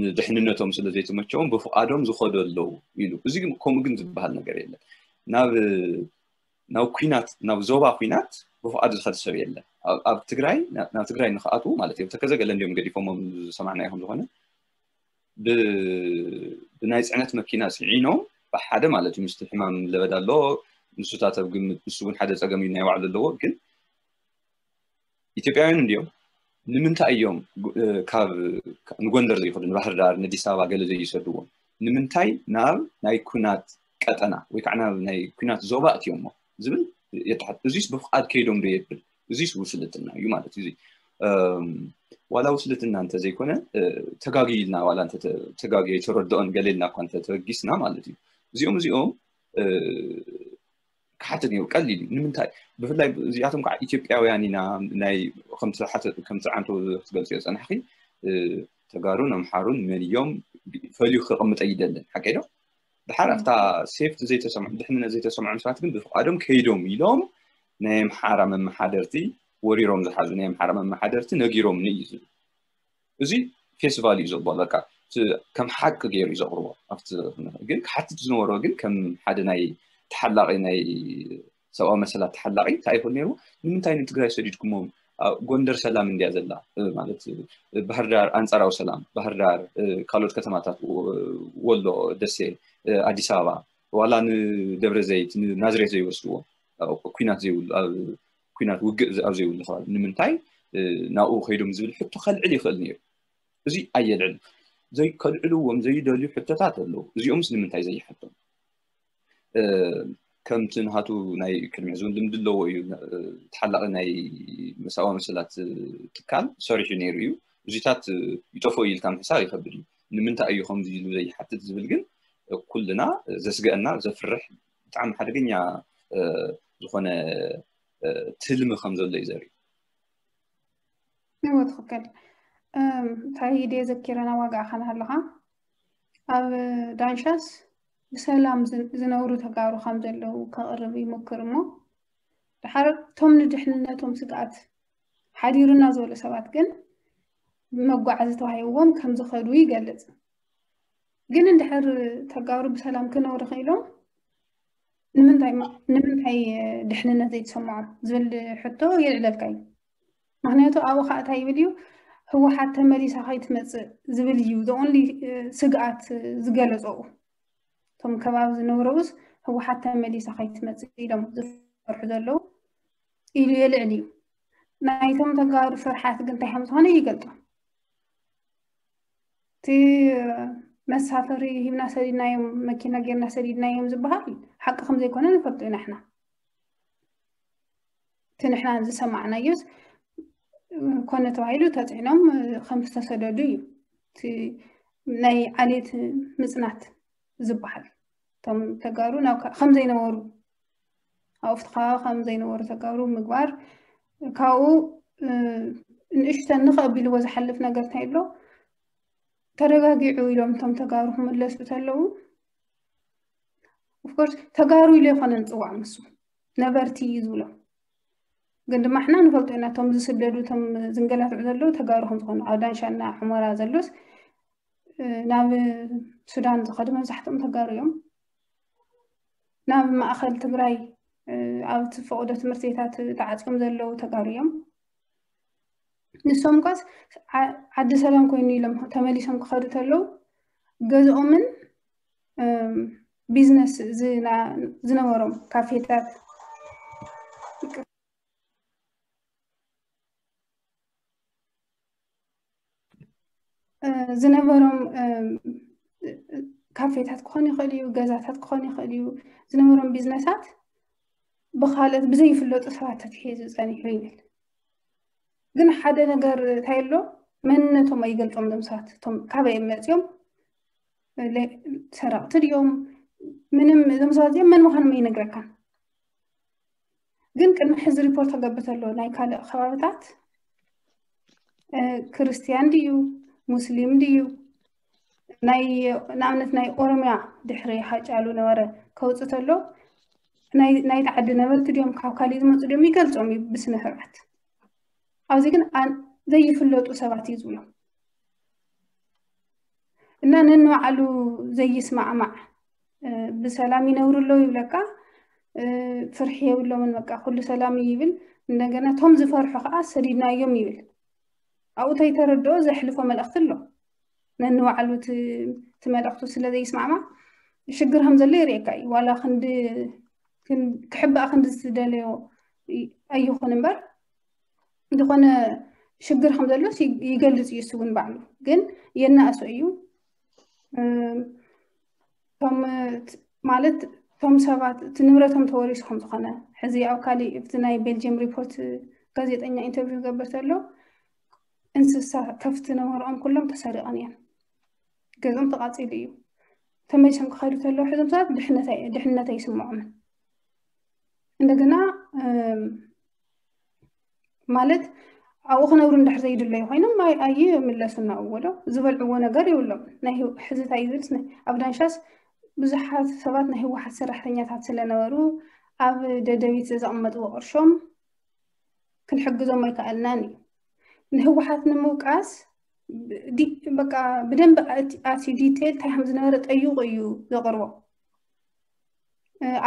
ንድሕንነቶም ስለ ዘይተመቸዎም ብፍቓዶም ዝኸዱ ኣለዉ ኢሉ እዚ ግን ከምኡ ግን ዝበሃል ነገር የለን ናብ ናብ ኩናት ናብ ዞባ ኩናት ብፍቓዱ ዝኸድ ሰብ የለን ኣብ ትግራይ ናብ ትግራይ ንክኣትዉ ማለት እዮም ተከዘ ገለ እንዲዮም ገዲፎሞም ዝሰማዕና ይኹም ዝኾነ ብናይ ፅዕነት መኪና ፅዒኖም ብሓደ ማለት እዩ ምስቲ ሕማም ለበዳ ኣሎ ንሱታት ኣብ ግምት ንሱ እውን ሓደ ፀገም እዩ ናይ ባዕሉ ኣለዎ ግን ኢትዮጵያውያን እንዲዮም ንምንታይ እዮም ካብ ንጎንደር ዘይኸዱ ንባህር ዳር ንኣዲስ ኣበባ ገለ ዘይሰድዎም ንምንታይ ናብ ናይ ኩናት ቀጠና ወይ ከዓ ናብ ናይ ኩናት ዞባ እትዮሞ ዝብል የተሓት እዚስ ብፍቃድ ከይዶም ዶ የብል እዚስ ውስልትና እዩ ማለት እዩ ዋላ ውስልትና እንተዘይኮነ ተጋጊ ኢልና ዋላ ተጋጊ የተረድኦን ገለ ኢልና እኳ እንተተበጊስና ማለት እዩ እዚኦም እዚኦም ክሓትት ነይሩ ቀሊል እዩ ንምንታይ ብፍላይ እዚኣቶም ከዓ ኢትዮጵያውያን ኢና ናይ ከምቲ ዓንቶ ክትገልፅዮ ፀናሕኪ ተጋሩን ኣምሓሩን መን እዮም ፈልዩ ክቕምጠ ይደልን ሓቀይ ዶ ድሓር ኣብታ ሴፍቲ ዘይተሰምዖ ድሕንነት ዘይተሰምዖም ሰባት ግን ብፍቃዶም ከይዶም ኢሎም ናይ ኣምሓራ መመሓደርቲ ወሪሮም ዝሓዙ ናይ ኣምሓራ መመሓደርቲ ነጊሮም እዩ ዝብል እዚ ፌስቲቫል እዩ ዘቦ በቃ ከም ሓቂ ገይሩ እዩ ዘቕርቦ ኣብቲ ግን ክሓትት ዝነበሮ ግን ከም ሓደ ናይ ተሓላቂ ናይ ሰብኣዊ መሰላት ተሓላቂ እንታይ ይኽእል ነይሩ ንምንታይ ንትግራይ ሰዲድኩሞም ጎንደር ሰላም እንዲያ ዘላ ማለት ባህርዳር ኣንፃራዊ ሰላም ባህርዳር ካልኦት ከተማታት ወሎ ደሴ ኣዲስ ኣበባ ዋላ ንደብረ ዘይት ንናዝሬት ዘይወስድዎ ኩናት ዘይብሉ ኣብ ኩናት ውግእ ኣብ ዘይብሉ ከባቢ ንምንታይ ናብኡ ከይዶም ዝብል ሕቶ ከልዕል ይኽእል ነይሩ እዚ ኣየልዕል ከልዕልዎም ዘይደልዩ ሕቶታት ኣለዉ እዚኦምስ ንምንታይ ዘይሓቶም ከምቲ ንሃቱ ናይ ቅድሚ ሕዚ እውን ልምዲ ኣለዎ እዩ ተሓላቂ ናይ መሳዋ መሰላት ትካል ሰሪሑ ነይሩ እዩ እዚታት ይጠፍኦ ኢልካ ምሕሳብ ይከብድ እዩ ንምንታይ እዩ ከምዚ ኢሉ ዘይሓትት ዝብል ግን ኩልና ዘስገአና ዘፍርሕ ብጣዕሚ ሓደገኛ ዝኾነ ትልሚ ከም ዘሎ እዩ ዘርኢ እዎ ትኽክል እንታይ ድየ ዘኪረና ዋጋዕኻ ናሃለኻ ኣብ ዳንሻስ ብሰላም ዝነብሩ ተጋሩ ከም ዘለዉ ከቕርብ ይሞክር እሞ ድሓር እቶም ንድሕንነቶም ስግኣት ሓዲሩና ዝበሉ ሰባት ግን መጓዓዚ ተዋሂብዎም ከም ዝኸዱ ይገልጽ ግን እንድሕር ተጋሩ ብሰላም ክነብሩ ክኢሎም ንምንታይ ድሕንነት ዘይተሰምዖም ዝብል ሕቶ የልዕለልካ እዩ ምክንያቱ ኣብኡ ከዓ እንታይ ይብል እዩ? ህወሓት ተመሊሳ ከይትመፅእ ዝብል እዩ the only ስግኣት ዝገለፀኡ። እቶም ከባቢ ዝነበረውስ ህወሓት ተመሊሳ ከይትመፅእ ኢሎም ዝፈርሑ ዘለዉ ኢሉ የልዕል እዩ። ናይቶም ተጋሩ ፍርሓት ግን እንታይ ከም ዝኾነ ይገልጦ። እቲ መሳፈሪ ሂብና ሰዲድናዮም፣ መኪና ጌርና ሰዲድናዮም ዝበሃል ሓቂ ከም ዘይኮነ ንፈልጦ ኢና ንሕና። እቲ ንሕና ዝሰማዕናዮስ ኮነ ተባሂሉ ተፅዕኖም ከም ዝተሰደዱ እዩ። እቲ ናይ ዓሌት ምፅናት ዝበሃል እቶም ተጋሩ ናብ ከ- ከም ዘይነበሩ ኣብኡ ኣብቲ ከባቢ ከም ዘይነበሩ ተጋሩ ምግባር ካብኡ ንእሽተን ንኸ ኣቢልዎ ዝሓልፍ ነገር እንታይ ኣሎ ተረጋጊዑ ኢሎም እቶም ተጋሩ ክምለሱ ተለዉ ኦፍኮርስ ተጋሩ ኢሉ ይኮነ ንፅዋዕ ምስ ነበርቲ እዩ ዝብሎም ግን ድማ ሕና ንፈልጦ ኢና እቶም ዝስደዱ እቶም ዝንገላትዑ ዘለዉ ተጋሩ ከም ዝኾኑ ኣብ ዳንሻና ሕመራ ዘሎስ ናብ ሱዳን ዝኸዱ መብዛሕትኦም ተጋሩ እዮም ናብ ማእኸል ትግራይ ኣብ ዝፈቐዶ ትምህርቲ ቤታት ተዓፅዮም ዘለዉ ተጋሩ እዮም ንሶም ኳስ ዓዲ ሰላም ኮይኑ ኢሎም ተመሊሶም ክኸዱ ተለዉ ገዝኦምን ቢዝነስ ዝነበሮም ካፌታት ዝነበሮም ካፌታት ክኾን ይኽእል እዩ ገዛታት ክኾን ይኽእል እዩ ዝነበሮም ቢዝነሳት ብካልኦት ብዘይፍለጡ ሰባት ተትሒዙ ጸኒሑ ይብል ግን ሓደ ነገር እንታይ ኣሎ መንነቶም ኣይገልጾም ዞም ሰባት እቶም ካበይ እዮም መጺኦም ሰረቕቲ ድዮም ምንም ዞም ሰባት እዚኦም መን ምዃኖም ኣይነግረካን ግን ቅድሚ ሕዚ ሪፖርት ክገብር ተሎ ናይ ካልእ ከባብታት ክርስቲያን ድዩ ሙስሊም ድዩ ናይ ንኣብነት ናይ ኦሮሚያ ድሕሪ ሃጫሉ ነበረ ከውፅእ ተሎ ናይቲ ዓዲ ነበርቲ ድዮም ካብ ካሊእ ዝመፁ ድዮም ይገልፆም እዩ ብስነ ስርዓት ኣብዚ ግን ዘይፍለጡ ሰባት እዩ ዝብሎም እና ነንባዕሉ ዘይስማዕማዕ ብሰላም ይነብሩ ኣለዉ ይብለካ ፍርሒ የብሎምን በቃ ኩሉ ሰላም ይብል እንደገና ቶም ዝፈርሑ ከዓ ሰዲድናዮም ይብል ኣብኡ ተይተረድኦ ዘሕልፎ መልእክቲ ኣሎ ነንባዕሉ እቲ መልእክቱ ስለ ዘይስማዕማዕ ሽግር ከም ዘሎ ይርእየካ እዩ ዋላ ክንዲ ክሕባእ ክንዲ ዝደለዮ ኣይኹን እምበር ዝኾነ ሽግር ከም ዘሎስ ይገልጽ እዩ እሱ እውን ባዕሉ ግን የናእሶ እዩ ማለት እቶም ሰባት እቲ ንብረቶም ተወሪሱ ከም ዝኾነ ሕዚ ኣብ ካሊእ ኣብቲ ናይ ቤልጅየም ሪፖርት ጋዜጠኛ ኢንተርቪው ዝገበር ተሎ እንስሳ ከፍቲ ነበርኦም ኩሎም ተሰሪቐን እየን ገዞም ተቃፂሉ እዩ ተመሊሶም ክኸዱ ተለዉ ሕዞም ሰባት ድሕነት ኣይስምዖምን እንደገና ማለት ኣብኡ ክነብሩ እንድሕር ዘይድለዩ ኮይኖም ኣይምለሱ እናእዎ ዶ ዝበልዕዎ ነገር የብሎም ናይ ሕዝታ ይብል ኣብ ዳንሻስ ብዙሓት ሰባት ናይ ህወሓት ሰራሕተኛታት ስለነበሩ ኣብ ደደቢት ዘቐመጥዎ ቅርሾም ክንሕግዞም ኣይከኣልናን እዩ ንህወሓት ንምውቃስ በቃ ብደንብ ኣትዩ ዲቴል እንታይ ከም ዝነበረ ጠይቁ እዩ ዘቕርቦ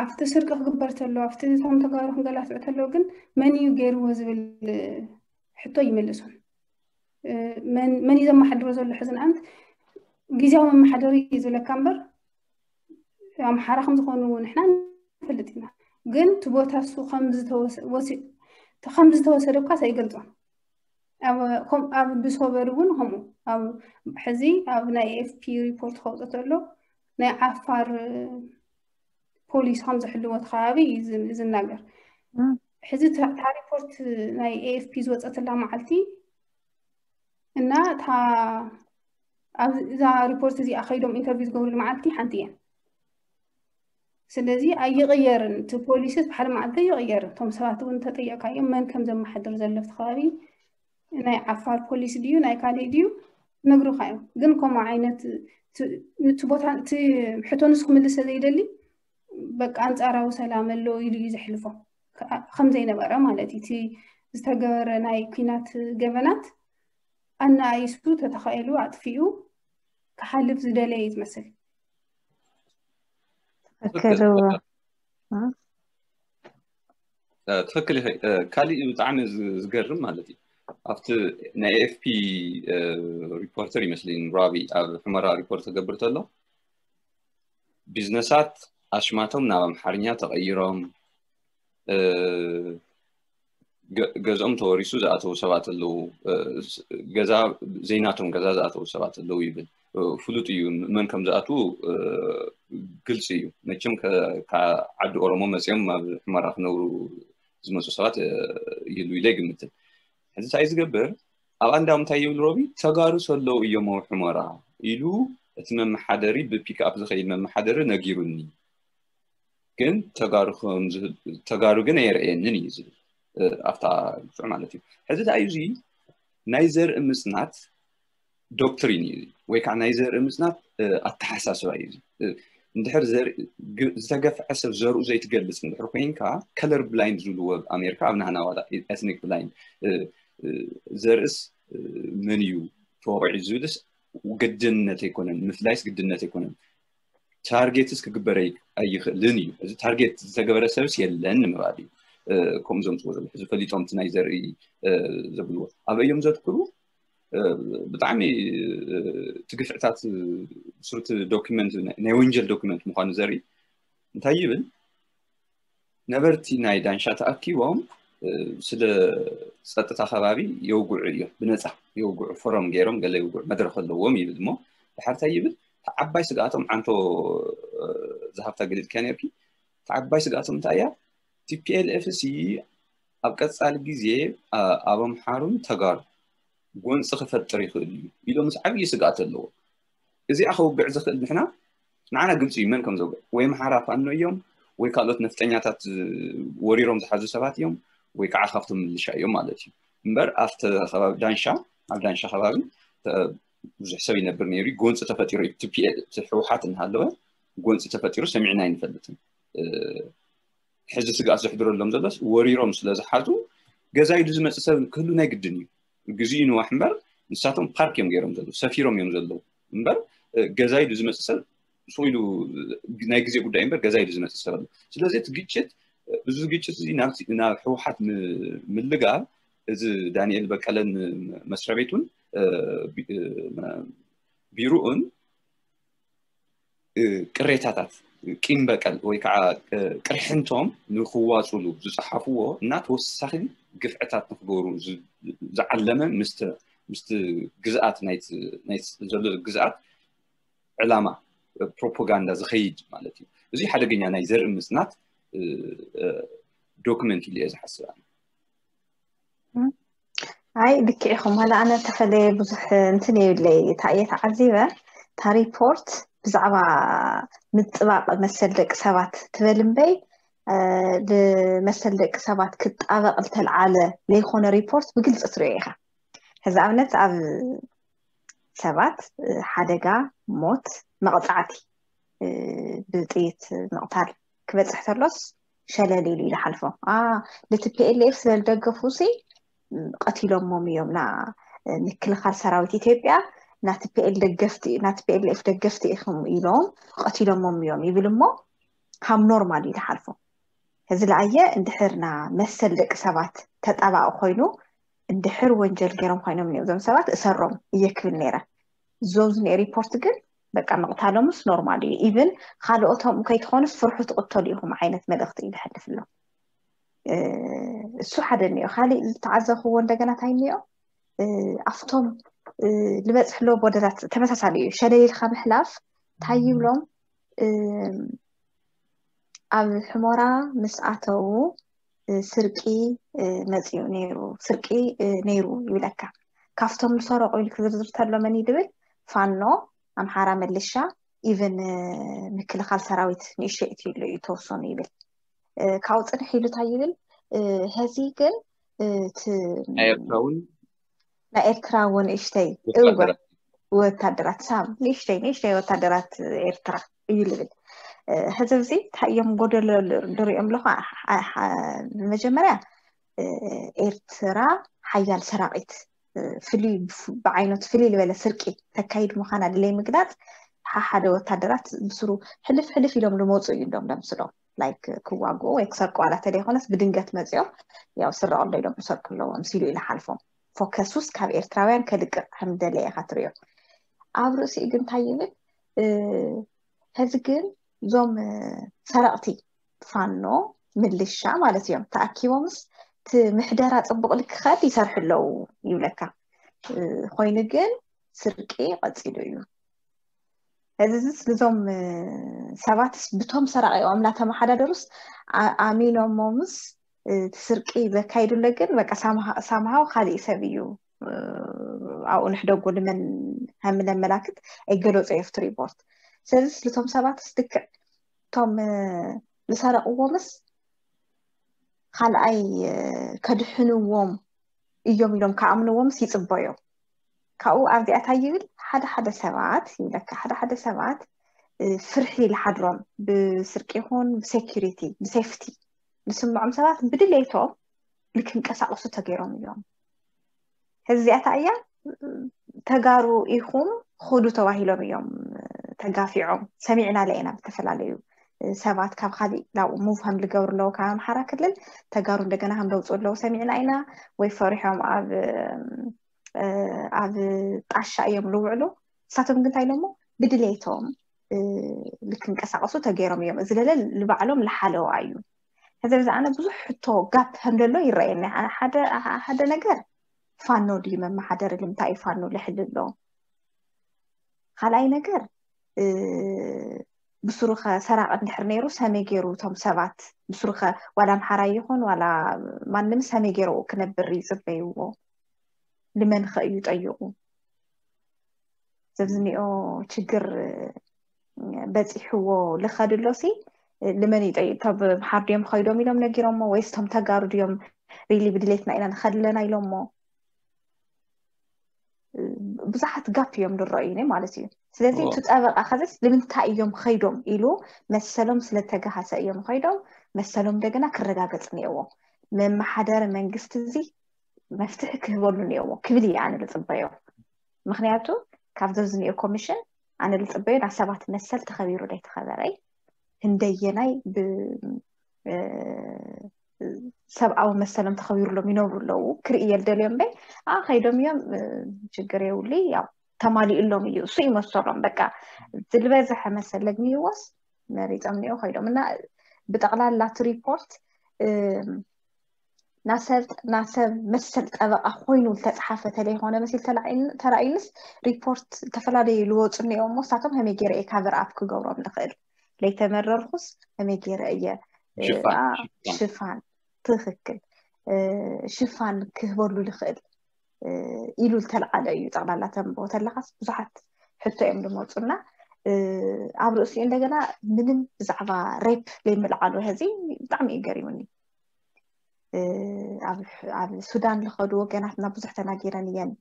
ኣብቲ ስርቂ ክግበር ተሎ ኣብቲ እቶም ተጋሩ ክንገላትዑ ተለዉ ግን መን እዩ ገይርዎ ዝብል ሕቶ ይምልሶም መን እዩ ዘመሓድሮ ዘሎ ሕዚ ንኣንት ግዜያዊ መመሓደሪ እዩ ዝብለካ እምበር ኣምሓራ ከም ዝኾኑ ንሕና ንፈልጥ ኢና ግን እቲ ቦታ እሱ ከም ዝተወሰደ እኳ ኣይገልፆን ኣብ ብሶበር እውን ከምኡ ኣብ ሕዚ ኣብ ናይ ኤፍፒ ሪፖርት ከውፅእ ተሎ ናይ ዓፋር ፖሊስ ከም ዝሕልዎ እቲ ከባቢ እዩ ዝናገር ሕዚ እታ ሪፖርት ናይ ኤኤፍፒ ዝወፀትላ መዓልቲ እና እታ እዛ ሪፖርት እዚኣ ከይዶም ኢንተርቪው ዝገብሩ መዓልቲ ሓንቲ እየን ስለዚ ኣይቕየርን እቲ ፖሊሲ ብሓደ መዓልቲ ኣይቕየርን እቶም ሰባት እውን ተጠየቅካዮም መን ከም ዘመሓድር ዘሎ እቲ ከባቢ ናይ ዓፋር ፖሊሲ ድዩ ናይ ካሊእ ድዩ ነግሩካ እዮም ግን ከምኡ ዓይነት እቲ ቦታ እቲ ሕቶ ንሱ ክምልሰ ዘይደሊ በቃ ኣንፃራዊ ሰላም ኣሎ ኢሉ እዩ ዘሕልፎ ከም ዘይነበረ ማለት እዩ እቲ ዝተገበረ ናይ ኩናት ገበናት ኣናኣይሱ ተተኻኢሉ ኣጥፊኡ ክሓልፍ ዝደለየ እዩ ዝመስል ትክክል ትኽክል ኢኺ። ካሊእ ብጣዕሚ ዝገርም ማለት እዩ ኣብቲ ናይ ኤኤፍፒ ሪፖርተር ይመስለኒ ራቢ ኣብ ሕመራ ሪፖርት ክገብር ተሎ ቢዝነሳት ኣሽማቶም ናብ ኣምሓርኛ ተቐይሮም ገዝኦም ተወሪሱ ዝኣተዉ ሰባት ኣለዉ። ገዛ ዘይናቶም ገዛ ዝኣተዉ ሰባት ኣለዉ ይብል። ፍሉጥ እዩ፣ መን ከም ዝኣትዉ ግልፂ እዩ። መቸም ዓዲ ኦሮሞ መፅኦም ኣብ ሕመራ ክነብሩ ዝመፁ ሰባት ይህሉ ኢለ ይግምትን። ሕዚ እንታይ ዝገብር ኣብ ኣንዳም እንታይ ይብል ሮቢ ተጋሩ ሰለዉ እዮም ኣብ ሕመራ ኢሉ እቲ መመሓደሪ ብፒክኣፕ ዝኸይድ መመሓደሪ ነጊሩኒ። ግን ተጋሩ ግን ኣየርእየንን እዩ ዝብል ኣብታ ግፍዕ ማለት እዩ። ሕዚ ዳዩ እዚ ናይ ዘርኢ ምፅናት ዶክትሪን እዩ ወይ ከዓ ናይ ዘርኢ ምፅናት ኣተሓሳስባ እዩ። እንድሕር ዝተገፍዐ ሰብ ዘርኡ ዘይትገልፅ እንድሕር ኮይንካ ከለር ብላይንድ ዝብልዎ ኣብ ኣሜሪካ ኣብ ናህና ዋላ ኤትኒክ ብላይንድ ዘርእስ መን እዩ ተወቂዑ ዝብልስ ግድነት ኣይኮነን፣ ምፍላይስ ግድነት ኣይኮነን። ታርጌትስ ክግበር ኣይክእልን እዩ። እዚ ታርጌት ዝተገበረ ሰብስ የለን ንምባል እዩ። ከምኡ ዘምፅዎ ዘሎ ሕዚ ፈሊጦም እቲ ናይ ዘርኢ ዘብልዎ ኣበዮም ዘትክሩ ብጣዕሚ እቲ ግፍዕታት ስሩቲ ዶክመንት ናይ ወንጀል ዶክመንት ምኳኑ ዘርኢ እንታይ ይብል ነበርቲ ናይ ዳንሻ ተኣኪቦም ስለ ፀጥታ ከባቢ የውግዑ እዮም ብነፃ የውግዑ ፎረም ገይሮም ገለ የውግዑ መድረክ ኣለዎም ይብል እሞ ድሓርታይ ይብል ዓባይ ስግኣቶም ዓንቶ ዝሃብታ ገሊፅካ ነርኪ ዓባይ ስግኣቶም እንታይ እያ ቲፒኤልኤፍ ሲ ኣብ ቀፃሊ ግዜ ኣብ ኣምሓሩን ተጋሩ ጎንፂ ክፈጥር ይኽእል እዩ ኢሎም ምስ ዓብዪ ስግኣት ኣለዎ እዚኣ ከውግዕ ዝኽእል ንሕና ንዓና ግልፂ እዩ መን ከም ዘውግዕ ወይ ኣምሓራ ፋኖ እዮም ወይ ካልኦት ነፍጠኛታት ወሪሮም ዝሓዙ ሰባት እዮም ወይ ከዓ ካብቶም ምልሻ እዮም ማለት እዩ እምበር ኣብቲ ከባቢ ዳንሻ ኣብ ዳንሻ ከባቢ ብዙሕ ሰብ ይነብር ነይሩ ጎንፂ ተፈጢሩ እዩ ቲፒኤል ህወሓት እናሃለወ ጎንፂ ተፈጢሩ ሰሚዕና ኣይንፈልጥን ሕዚ ስግኣት ዘሕድረሎም ዘሎስ ወሪሮም ስለ ዝሓዙ ገዛ ኢሉ ዝመፅእ ሰብ ክህሉ ናይ ግድን እዩ ግዜኡ ንዋሕ እምበር ንሳቶም ፓርክ እዮም ገይሮም ዘለዉ ሰፊሮም እዮም ዘለዉ እምበር ገዛ ኢሉ ዝመፅእ ሰብ ሱቕ ኢሉ ናይ ግዜ ጉዳይ እምበር ገዛ ኢሉ ዝመፅእ ሰብ ኣሎ ስለዚ እቲ ግጭት እዚ ግጭት እዚ ናብ ህወሓት ምልጋብ እዚ ዳንኤል በቀለን መስሪያ ቤቱን ቢሩኡን ቅሬታታት ቂም በቀል ወይ ከዓ ቅርሕንቶም ንክዋፅሉ ዝፀሓፍዎ እና ተወሳኺ ግፍዕታት ንክገብሩ ዝዓለመ ምስቲ ግዝኣት ዘሎ ግዝኣት ዕላማ ፕሮፓጋንዳ ዝኸይድ ማለት እዩ እዚ ሓደገኛ ናይ ዘርኢ ምፅናት ዶክመንት ኢሉ እየ ዝሓስብ ኣይ ልክዕ ኢኹም ዋላ ኣነ ተፈለየ ብዙሕ እንትን የብለይ እታ እየ ተዓዚበ እታ ሪፖርት ብዛዕባ ምጥባቕ መሰል ደቂ ሰባት ትበል እምበይ ንመሰል ደቂ ሰባት ክጣበቕ ዝተልዓለ ዘይኮነ ሪፖርት ብግልፂ ትሪኦ ኢኻ ሕዚ ኣብነት ኣብ ሰባት ሓደጋ ሞት መቕፃዕቲ ብጥይት ምቕታል ክበፅሕ ተሎስ ሸለል ኢሉ ይሓልፎ። ንቲ ፒኤልኤፍ ስለ ዝደገፉ ሲ ቀቲሎሞም እዮም። ና ምክልኻል ሰራዊት ኢትዮጵያ ናቲ ፒኤል ደገፍቲ ናቲ ፒኤልኤፍ ደገፍቲ ኢኹም ኢሎም ቀቲሎሞም እዮም ይብል እሞ ሃም ኖርማል እዩ ዝሓልፎ። እዚ ለኣየ እንድሕር ና መሰል ደቂ ሰባት ተጣባቂ ኮይኑ እንድሕር ወንጀል ገይሮም ኮይኖም እዮም እዞም ሰባት እሰሮም እየ ክብል ነይረ። እዞም ዝኒኦ ሪፖርት ግን በቃ ምቕታሎምስ ኖርማል እዩ። ኢቭን ካልኦቶም ከይትኾኑ ፍርሑ ትቕተሉ ኢኹም ዓይነት መልእኽቲ እዩ ዝሕልፍ ኣሎ። እሱ ሓደ እኒኦ። ካሊእ ዝተዓዘብክዎ እንደገና እንታይ እኒኦ? ኣብቶም ዝበፅሕሎ ቦደራት ተመሳሳሊ እዩ። ሸለሊልካ ምሕላፍ እንታይ ይብሎም? ኣብ ሕሞራ ምስ ኣተዉ ስርቂ መፂኡ ነይሩ ስርቂ ነይሩ ይብለካ ካብቶም ዝሰረቁ ኢሉ ክዝርዝር ተሎ መን እዩ ድብል ፋኖ ኣምሓራ መልሻ ኢቨን ምክልኻል ሰራዊት ንእሽተይ እትይሉ እዩ ተወሰኑ ይብል ካብኡ ፅንሕ ኢሉ እንታይ ይብል ሀዚ ግን ናይ ኤርትራ እውን ናይ ኤርትራ እውን ንእሽተይ እወ ወታደራት ሳም ንእሽተይ ንእሽተይ ወታደራት ኤርትራ እዩ ልብል ህዝብ እዚ እንታይ እዮም ጎደሎ ድሪኦም ኣለኹ መጀመርያ ኤርትራ ሓያል ሰራቂት ፍልይ ብዓይነቱ ፍልይ ዝበለ ስርቂ ተካይድ ምዃና ድለይ ምግላፅ ሓደ ወታደራት ብስሩ ሕልፍ ሕልፍ ኢሎም ልመፁ እዩ እንዶም ደምስሎም ላይክ ክዋግኡ ወይ ክሰርቁ ዋላ ተደይኮነስ ብድንገት መፂኦም ያው ስረቀሎ ኢሎም ክሰርቁ ኣለዎም ሲሉ ኢለ ሓልፎም ፎከሱስ ካብ ኤርትራውያን ከልቅቕ ከም ደለየ ኢኻ ትሪኦ። ኣብ ርእሲኡ ግን እንታይ ይብል? ሕዚ ግን እዞም ሰረቕቲ ፋኖ ምልሻ ማለት እዮም ተኣኪቦምስ እቲ ምሕደራ ፅቡቕ ልክኸድ ይሰርሑ ኣለዉ ይብለካ። ኮይኑ ግን ስርቂ ቀፂሉ እዩ። እዚ ዝስ ልዞም ሰባትስ ብቶም ሰራቂኦም እናተመሓዳደሩስ ኣሚኖሞምስ እቲ ስርቂ ዘካይዱለ ግን በቃ ሳምሃው ካሊእ ሰብ እዩ ኣብኡ ንሕደጎ ልመን ከምለመላክት ኣይገለፁ የፍት ሪፖርት። ስለዚ ልቶም ሰባትስ ልክዕ እቶም ዝሰረቅዎምስ ካልኣይ ከድሕንዎም እዮም ኢሎም ከኣምንዎምስ ይፅበዮም። ካብኡ ኣብዚኣ እንታይ ይብል? ሓደ ሓደ ሰባት ይብለካ፣ ሓደ ሓደ ሰባት ፍርሒ ይሓድሮም፣ ብስርቂ ይኹን ብሴኪሪቲ ብሴፍቲ ዝስምዖም ሰባት ብድሌቶም ልክንቀሳቀሱ ተገይሮም እዮም። ሕዚ እዚኣታ እያ ተጋሩ ኢኹም ኹዱ ተባሂሎም እዮም ተጋፊዖም። ሰሚዕና ለኢና ብተፈላለዩ ሰባት ካብ ካሊእ ናብኡ ሙቭ ከም ዝገብሩ ኣለዉ ካብ ኣምሓራ ክልል ተጋሩ እንደገና ከም ዘውፅኡ ኣለዉ ሰሚዕና ኢና። ወይ ፈሪሖም ኣብ ኣብ ጣሻ እዮም ዝውዕሉ። ንሳቶም ግን እንታይ ኢሎሞ ብድሌቶም ልክንቀሳቀሱ ተገይሮም እዮም። እዚ ለለ ንባዕሎም ዝሓለዋ እዩ። ሕዚ ብዛዕባ ብዙሕ ሕቶ ጋፕ ከም ዘሎ ይረኣየኒ። ሓደ ነገር ፋኖ ድዩ መመሓደሪ? ልምንታይ እዩ ፋኖ ልሕል ኣሎ? ካልኣይ ነገር ብስሩኸ ሰራቂ እንድሕር ነይሩ ሰመይ ገይሩ እቶም ሰባት ብስሩኸ ዋላ ኣምሓራይ ይኹን ዋላ ማንም ሰመይ ገይሩ ክነብር ይፅበይዎ? ልመንኸ እዩ ጠይቁ? ዘብዝኒኦ ችግር በፂሕዎ ልኸድሎ ሲ ልመን ይጠይቅ? ቶም ሓር ድዮም ኸይዶም ኢሎም ነጊሮሞ ወይስ ቶም ተጋሩ ድዮም ሪሊ ብድሌትና ኢና ንኸድለና ኢሎሞ? ብዙሓት ጋፕ እዮም ዝረእዩኒ ማለት እዩ። ስለዚ እቲ ጠበቃ ከዚስ ልምንታይ እዮም ኸይዶም ኢሉ መሰሎም ስለተገሃሰ እዮም ኸይዶም። መሰሎም እንደገና ክረጋገፅ እኒኦዎ። መመሓደሪ መንግስቲ እዚ መፍትሒ ክህበሉ እኒኦዎ ክብል እየ ኣነ ዝፅበዮ። ምክንያቱ ካብ ዘብዝኒኦ ኮሚሽን ኣነ ዝፅበዮ ናብ ሰባት መሰል ተኸቢሩ ዘይተኸበረይ ህንደየናይ ሰብኣዊ መሰሎም ተኸቢሩሎም ይነብሩ ኣለዉ ክርኢ እየ ዝደልዮ እምበይ። ኣ ኸይዶም እዮም ችግር የብሉ ያው ተማሊኡሎም እዩ እሱ ይመሰሎም በቃ ዝበዝሐ መሰል ለግሚዎስ መሪፆም እኒኦ ኸይዶም እና ብጠቕላላ እቲ ሪፖርት ናሰብ ናሰብ መሰል ጠበቃ ኮይኑ ዝተፅሓፈ ተለይኮነ መሲል ተራእዩንስ ሪፖርት ዝተፈላለዩ ልወፁ እኒኦ እሞ ንሳቶም ከመይ ገይረ እየ ካቨር ኣፕ ክገብሮም ንኽእል ለይተመረርኩስ ከመይ ገይረ እየ ሽፋን ትክክል ሽፋን ክህበሉ ልኽእል ኢሉ ዝተልዓለ እዩ። ጠቕላላ ተንብቦ ተለኻስ ብዙሓት ሕቶ እዮም ዝመፁና። ኣብ ርእሲኡ እንደገና ምንም ብዛዕባ ሬፕ ለይምልዓሉ ሕዚ ብጣዕሚ እዩ ገሪሙኒ። ኣብ ሱዳን ዝኸዱ ወገናትና ብዙሕ ተናጊረን እየን።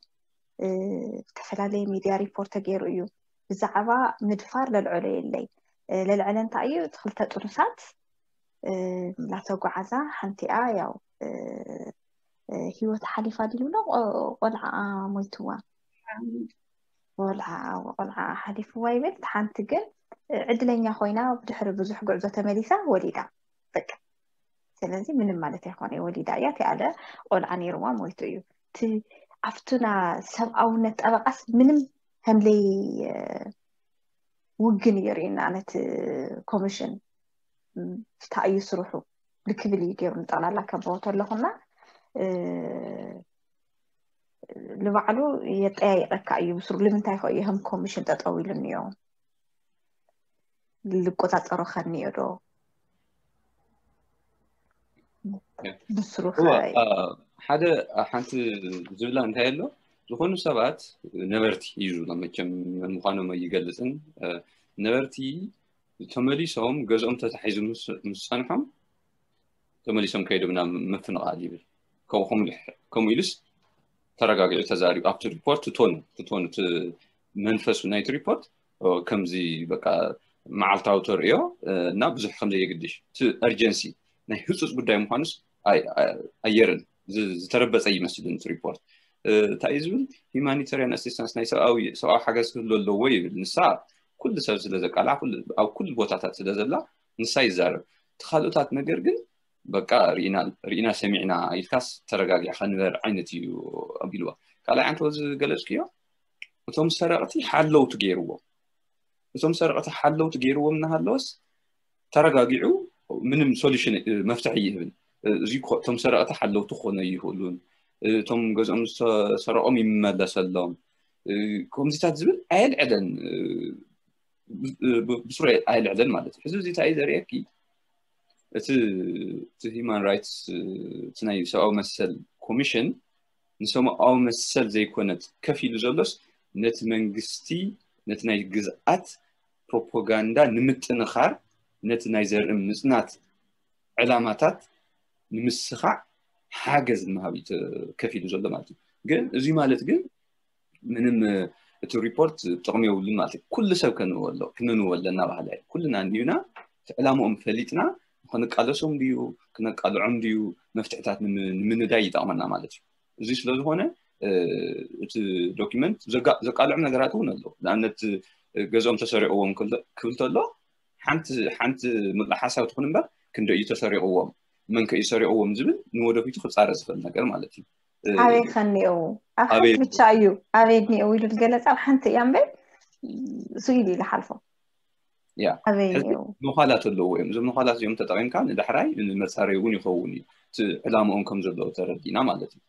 ዝተፈላለየ ሚድያ ሪፖርት ተገይሩ እዩ። ብዛዕባ ምድፋር ለልዐሎ የለይ። ለልዐለ እንታይ እዩ? እቲ ክልተ ጥኑሳት እናተጓዓዛ ሓንቲኣ ያው ህይወት ሓሊፋ ድልብሎ ቆልዓ ሞይትዋ ቆልዓ ቆልዓ ሓሊፍዋ ይብል። ሓንቲ ግን ዕድለኛ ኮይና ብድሕሪ ብዙሕ ጉዕዞ ተመሊሳ ወሊዳ። በቃ ስለዚ ምንም ማለት ኣይኮነ ወሊዳ እያ። እቲ ኣለ ቆልዓ ነይርዋ ሞይቱ እዩ። እቲ ኣብቱና ሰብኣውነት ጠበቃስ ምንም ከምለይ ውግን እዩ ርእና ነቲ ኮሚሽን ፍታ እዩ ስርሑ ልክብል እዩ ገይሩ ንጠቕላላ ከበወ ተለኹና ንባዕሉ የጠያይቀካ እዩ ብስሩ ልምንታይ ከ እዩ ከም ኮሚሽን ጠጠው ኢሉ እኒኦ ልቆፃፀሮ ከኒዮ ዶ ብስሩ ሓደ ሓንቲ ዝብላ እንታይ ኣሎ ዝኾኑ ሰባት ነበርቲ እዩ ዝብሎ መቸም መን ምዃኖም ኣይገልፅን ነበርቲ ተመሊሶም ገዝኦም ተታሒዙ ምስ ፀንሖም ተመሊሶም ከይዶም ናብ ምፍንቓል ይብል ከምኡ ኢሉስ ተረጋጊዑ ተዛሪቡ ኣብቲ ሪፖርት ትቶኑ ትቶኑ መንፈሱ ናይቲ ሪፖርት ከምዚ በቃ መዓልታዊ ተርእዮ እና ብዙሕ ከምዘየግድሽ እቲ እርጀንሲ ናይ ህፁፅ ጉዳይ ምዃኑስ ኣየርን ዝተረበፀ ይመስልን እቲ ሪፖርት እንታይ እዩ ዝብል ሂማኒታሪያን ኣሲስታንስ ናይ ሰብኣዊ ሰብኣዊ ሓገዝ ክህሉ ኣለዎ ይብል ንሳ ኩሉ ሰብ ስለ ዘቃልዓ ኣብ ኩሉ ቦታታት ስለ ዘላ ንሳ ይዛረብ እቲ ካልኦታት ነገር ግን በቃ ርኢና ሰሚዕና ኢልካስ ተረጋጊዕካ ንበር ዓይነት እዩ ኣቢልዋ። ካልኣይ ዓንተወ ዝገለፅክዮ እቶም ሰረቕቲ ሓለውቲ ገይርዎም። እቶም ሰረቕቲ ሓለውቲ ገይርዎም እናሃለወስ ተረጋጊዑ ምንም ሶሉሽን መፍትሒ ይህብን። እዚ እቶም ሰረቕቲ ሓለውቲ ክኾኑ ይኽእሉን እቶም ገዝኦም ዝተሰረቖም ይመለሰሎም ከምዚታት ዝብል ኣየልዕለን ብስሩ ኣየልዕለን ማለት እዩ። ሕዚ እዚ እንታይ ዘርእየኪ እቲ እቲ ሂማን ራይትስ እቲ ናይ ሰብኣዊ መሰል ኮሚሽን ንሰብኣዊ መሰል ዘይኮነት ከፍ ኢሉ ዘሎስ ነቲ መንግስቲ ነቲ ናይ ግዝኣት ፕሮፓጋንዳ ንምጥንኻር ነቲ ናይ ዘርኢ ምፅናት ዕላማታት ንምስኻዕ ሓገዝ ንምሃብ እዩ ከፍ ኢሉ ዘሎ ማለት እዩ። ግን እዚ ማለት ግን ምንም እቲ ሪፖርት ጥቕሚ የብሉን ማለት እዩ። ኩሉ ሰብ ከንብቦ ኣሎ ክንንቦ ኣለና ባህላ እዩ። ኩልና እንዲዩና እቲ ዕላምኦም ፈሊጥና ክንቃለሶም ድዩ ክነቃልዖም ድዩ መፍትሕታት ንምንዳይ ይጠቕመና ማለት እዩ። እዚ ስለ ዝኾነ እቲ ዶኪመንት ዘቃልዖም ነገራት እውን ኣለዉ። ንኣብነት ገዝኦም ተሰሪቕዎም ክብል ተሎ ሓንቲ ሓንቲ ምሉእ ሓሳብ ትኹን እምበር ክንደ እዩ ተሰሪቕዎም መን ከ እዩ ሰሪቕዎም ዝብል ንወደፊቱ ክፃረ ዝኽእል ነገር ማለት እዩ። ኣበይ ከኒኡ ኣብ ሓንቲ ብቻ እዩ ኣበይ እኒኡ ኢሉ ዝገለፅ ኣብ ሓንቲ እያ እምበር ስኢሉ ኢሉ ሓልፎ ያ መዃላት ኣለዎ እዮም። እዞም መዃላት እዚኦም ተጠቒምካ ንዳሕራይ ንመፃረዩ እውን ይኸውን እዩ። እቲ ዕላምኦም ከም ዘለዎ ተረዲና ማለት እዩ።